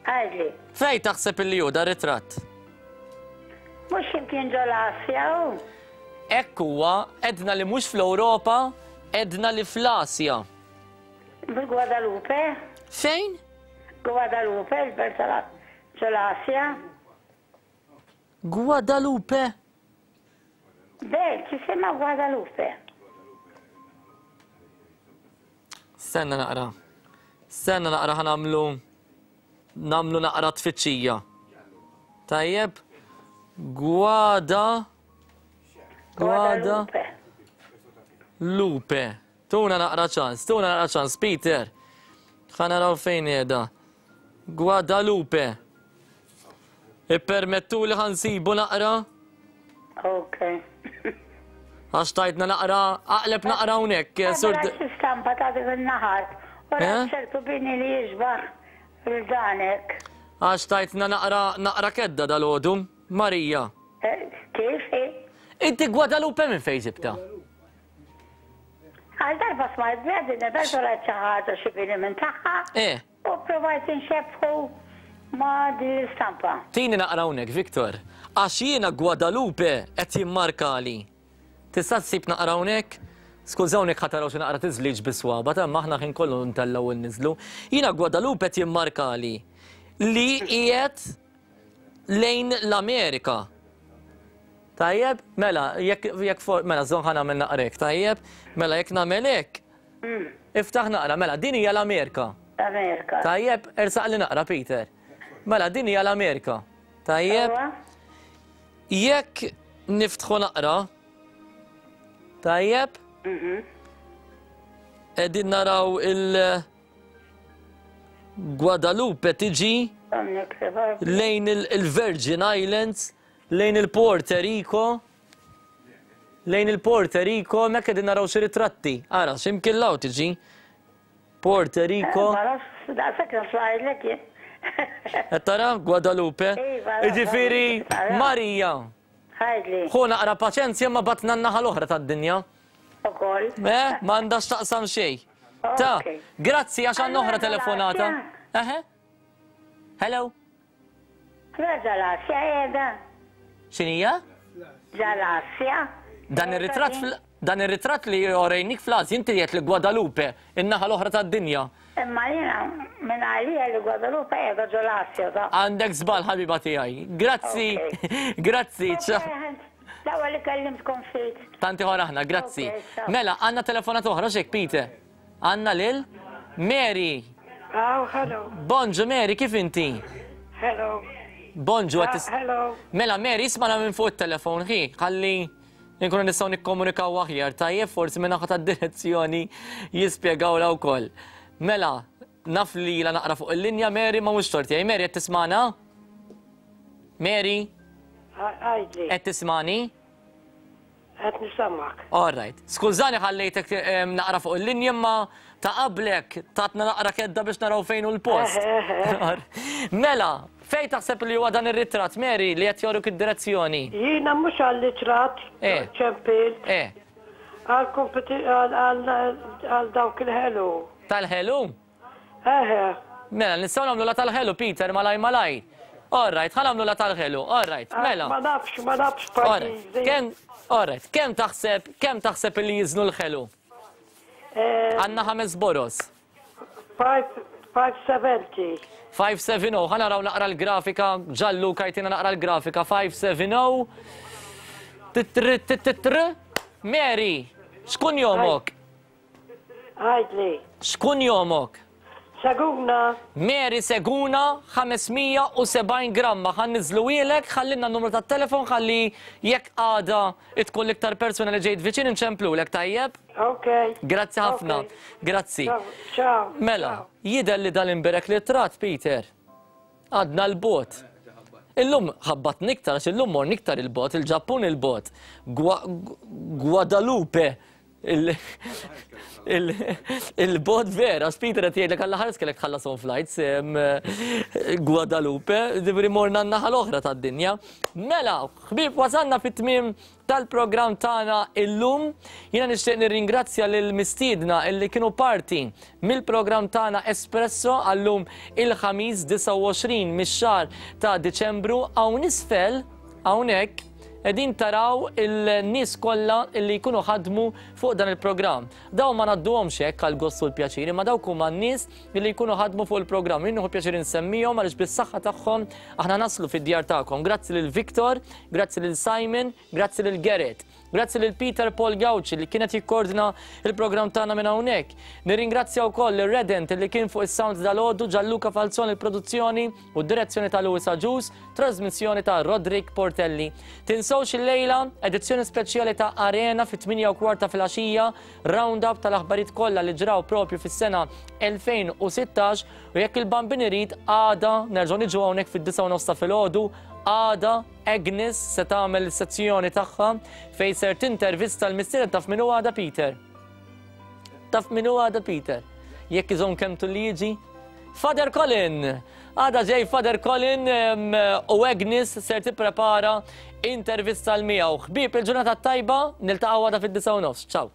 Għidli.
Fej taħseb illi hu dar ritratt?
Mhux x'imkien ġol-Asja hu.
Ekk huwa, edna li mhux fl-Ewropa, edna li fl-Asja.
Bil-Guadalupe?
Fejn?
Guadalupe, il-belt tal- ġol-Asja.
Guadalupe?
Belt, jisimha Guadalupe.
Stenna naqra. Stenna naqra ħanamlu namlu naqra tfittxija. Tajjeb? Guada Guada Lupe. Tuna naqra ċans, tuna naqra ċans, Peter. Ħa naraw fejn qiegħda. Guadalupe. Ippermettu li ħansibu naqra?
Ok.
Għax tajtna naqra, aqleb naqra hawnhekk.
Sur stampa ta' dik in-naħar. U ċertu bini li jiġbaħ il-danek.
Għax tajtna naqra naqra kedda dal-għodu, Marija.
Kif?
Inti Guadalupe minn fejn ġibta?
Għal darba smajt biha din il-belt xi ħaġa xi bini minn tagħha.
Eh.
U provajt inxebħu ma' din l-istampa.
Tini naqra hawnhekk, Victor. Għax jiena Guadalupe qed jimmarkali. Tista' tsib naqra hawnhekk? Skużawni ħa taraw xi naqra tiżliġ biswaba, ta' aħna ħin kollu ntellgħu nniżlu. Jiena Guadalupe qed jimmarkali li qiegħed lejn l-Amerika. Tajjeb, mela, jekk jekk for, mela żon ħa nagħmel naqrek, tajjeb, mela jekk nagħmel hekk. Iftaħ naqra, mela din hija l-Amerika.
Amerika.
Tajjeb, ersaq li naqra, Peter. Mela din hija l-Amerika. Tajjeb. Jekk niftħu naqra, tajjeb, qegħdin naraw il- Guadalupe tiġi lejn il-Virgin Islands, lejn il-Puerto Rico, lejn il-Puerto Rico, mek qegħdin naraw xi ritratti. Ara, x'imkien law tiġi. Puerto Rico. Qed tara Guadalupe. Jiġifieri Marija. Ħu naqra paċenzja ma batna n-naħa l-oħra tad-dinja.
Ukoll.
Eh, ma għandax taqsam xejn. Ta, grazzi għax għandna oħra telefonata. Eħe. Hello.
Ġalasja qiegħda.
X'inhija?
Ġalasja.
Dan ir-ritratt dan ir-ritratt li orejnik fl-Asja inti qed li Guadalupe, in-naħa l-oħra tad-dinja.
Imma jiena minn għalija li Guadalupe qiegħda ġol-Asja ta.
Għandek żball ħabiba tiegħi. Grazzi. Grazzi.
L-ewwel li kellimtkom ftit.
Tanti ħor aħna, grazzi. Mela, għandna telefonata oħra x'hekk Peter. Għandna lil Mary.
Oh, hello.
Bonġu Mary, kif inti?
Hello.
Bonġu,
uh, hello.
Mela Mary, ismana minn fuq it-telefon, ħi, ħalli nkunu nistgħu nikkomunikaw aħjar, tajjeb forsi minn naħa tad-direzzjoni jispjegawla wkoll. Mela, naf li la naqra fuq il-linja Mary ma mhux torti. Mary qed tismana? Mary?
Għajdli.
Qed tismani?
Qed nisamgħek.
All right. Skużani ħallejtek naqra fuq il-linja imma ta' qablek tatna naqra kedda biex naraw fejn hu l-post. Mela, fejn taħseb li huwa dan ir-ritratt, Mary, li qed joruk id-direzzjoni?
Jiena mhux għall-ritratt ċempilt.
Eh.
Għal dawk il-ħelu.
Tal-ħelu?
Eħe.
Mela, nistgħu nagħmlu la tal-ħelu, Peter, malaj malaj. All right, ħa nagħmlu la tal-ħelu, all right, mela.
Ma nafx, ma nafx pajjiżi.
Kemm, all right, kemm taħseb, kemm taħseb li jiżnu l-ħelu? Għandna ħames boros.
five seventy.
five seven oh, ħa naraw naqra l-grafika, Gianluca jtina naqra l-grafika, five seven oh. Titr, titr, Mary, xkun jomok?
Għajdli.
Xkun jomok?
Seguna.
Mary Seguna, ħames mija u sebgħin gramma. Ħa niżluwielek, ħallinna n-numru tat-telefon, ħalli jekk għada tkun l-iktar persuna li ġejt viċin inċemplulek, tajjeb?
Ok.
Grazzi ħafna. Grazzi.
Ciao.
Mela, jidher li dal-imberek li trat, Peter. Għadna l-bot. Illum ħabbat niktar, għax illum mor niktar il-bot, il-Ġappun il-bot. Guadalupe. Il-bot vera, Peter qed jgħidlek għalla ħares kellek tħallas on flights, Guadalupe, ġifieri morna n-naħa l-oħra tad-dinja. Mela, ħbieb, wasalna fit-tmiem tal-programm tagħna illum. Jiena nixtieq nirringrazzja lil mistiedna illi kienu parti mill-programm tagħna Espresso għallum il-ħamis disgħa u għoxrin mix-xahar ta' Diċembru. Hawn isfel, hawnhekk, qegħdin taraw il-nies kollha illi jkunu ħadmu fuq dan il-programm. Dawn ma ngħadduhomx hekk għal gost u l-pjaċir, imma dawk huma n-nies illi jkunu ħadmu fuq il-programm. Jien nieħu pjaċir insemmihom għaliex bis-saħħa tagħhom aħna naslu fid-djar tagħkom. Grazzi lil Victor, grazzi lil Simon, grazzi lil Gerrit, grazzi lil Peter Paul Gauci li kienet jikkoordina il-programm tagħna minn hawnhekk. Nirringrazzja wkoll lil Redent li kien fuq is-sound dal-għodu, Gianluca Falzon il-produzzjoni u d-direzzjoni ta' Louis Agius, trasmissjoni ta' Roderick Portelli. Tinsewx il-lejla edizzjoni speċjali ta' Arena fit-tmienja u kwarta filgħaxija, round-up tal-aħbarijiet kollha li ġraw propju fis-sena elfejn u sittax, u jekk il-Bambin irid għada nerġgħu niġu hawnhekk fid-disgħa u nofs ta' filgħodu Għada Agnes se tagħmel is-sezzjoni tagħha fejn ser tintervista l-mistieden. Taf min hu għada, Peter? Taf min hu għada, Peter? Jekk iżomm kemm tulli jiġi? Father Colin! Għada ġej Father Colin u Agnes ser tipprepara intervista l miegħu. Ħbieb, il-ġurnata tajba, niltaqgħu għada fid-disgħa u nofs. Ciao!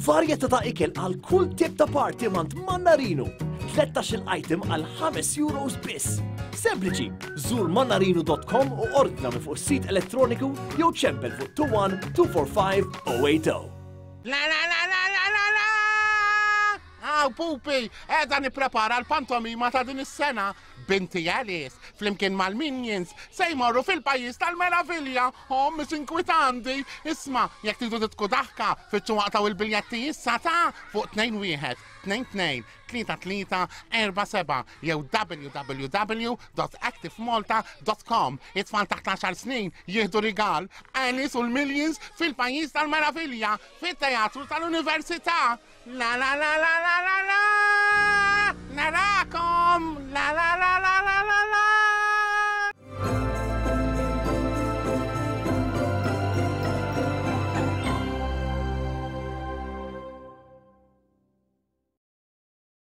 Varjetà ta' ikel għal kull tip ta' party mant Mannarino. tlettax-il item għal ħames euros biss. Sempliċi, żur mannarino dot com u ordna minn fuq sit elettroniku jew ċempel fuq two one two four five zero eight zero.
La la la la la la la! Aw, pupi, qiegħda nipprepara l-pantomima ta' din is-sena. Binti Alice, flimkien mal-Minions, se jmorru fil-pajjiż tal-meravilja. Oh, mis inkwitanti. Isma, jekk tridu tidħku daħka, fittxu aqtgħu il-biljetti issa ta' fuq tnejn wieħed, tnejn tnejn, tlieta tlieta, erba' seba' jew w w w dot activemalta dot com. It-tfal taħt għaxar snin jieħdu rigal. Alice u l-Minions fil-pajjiż tal-meravilja, fit-teatru tal-Università. La la la la la la la! Narakom!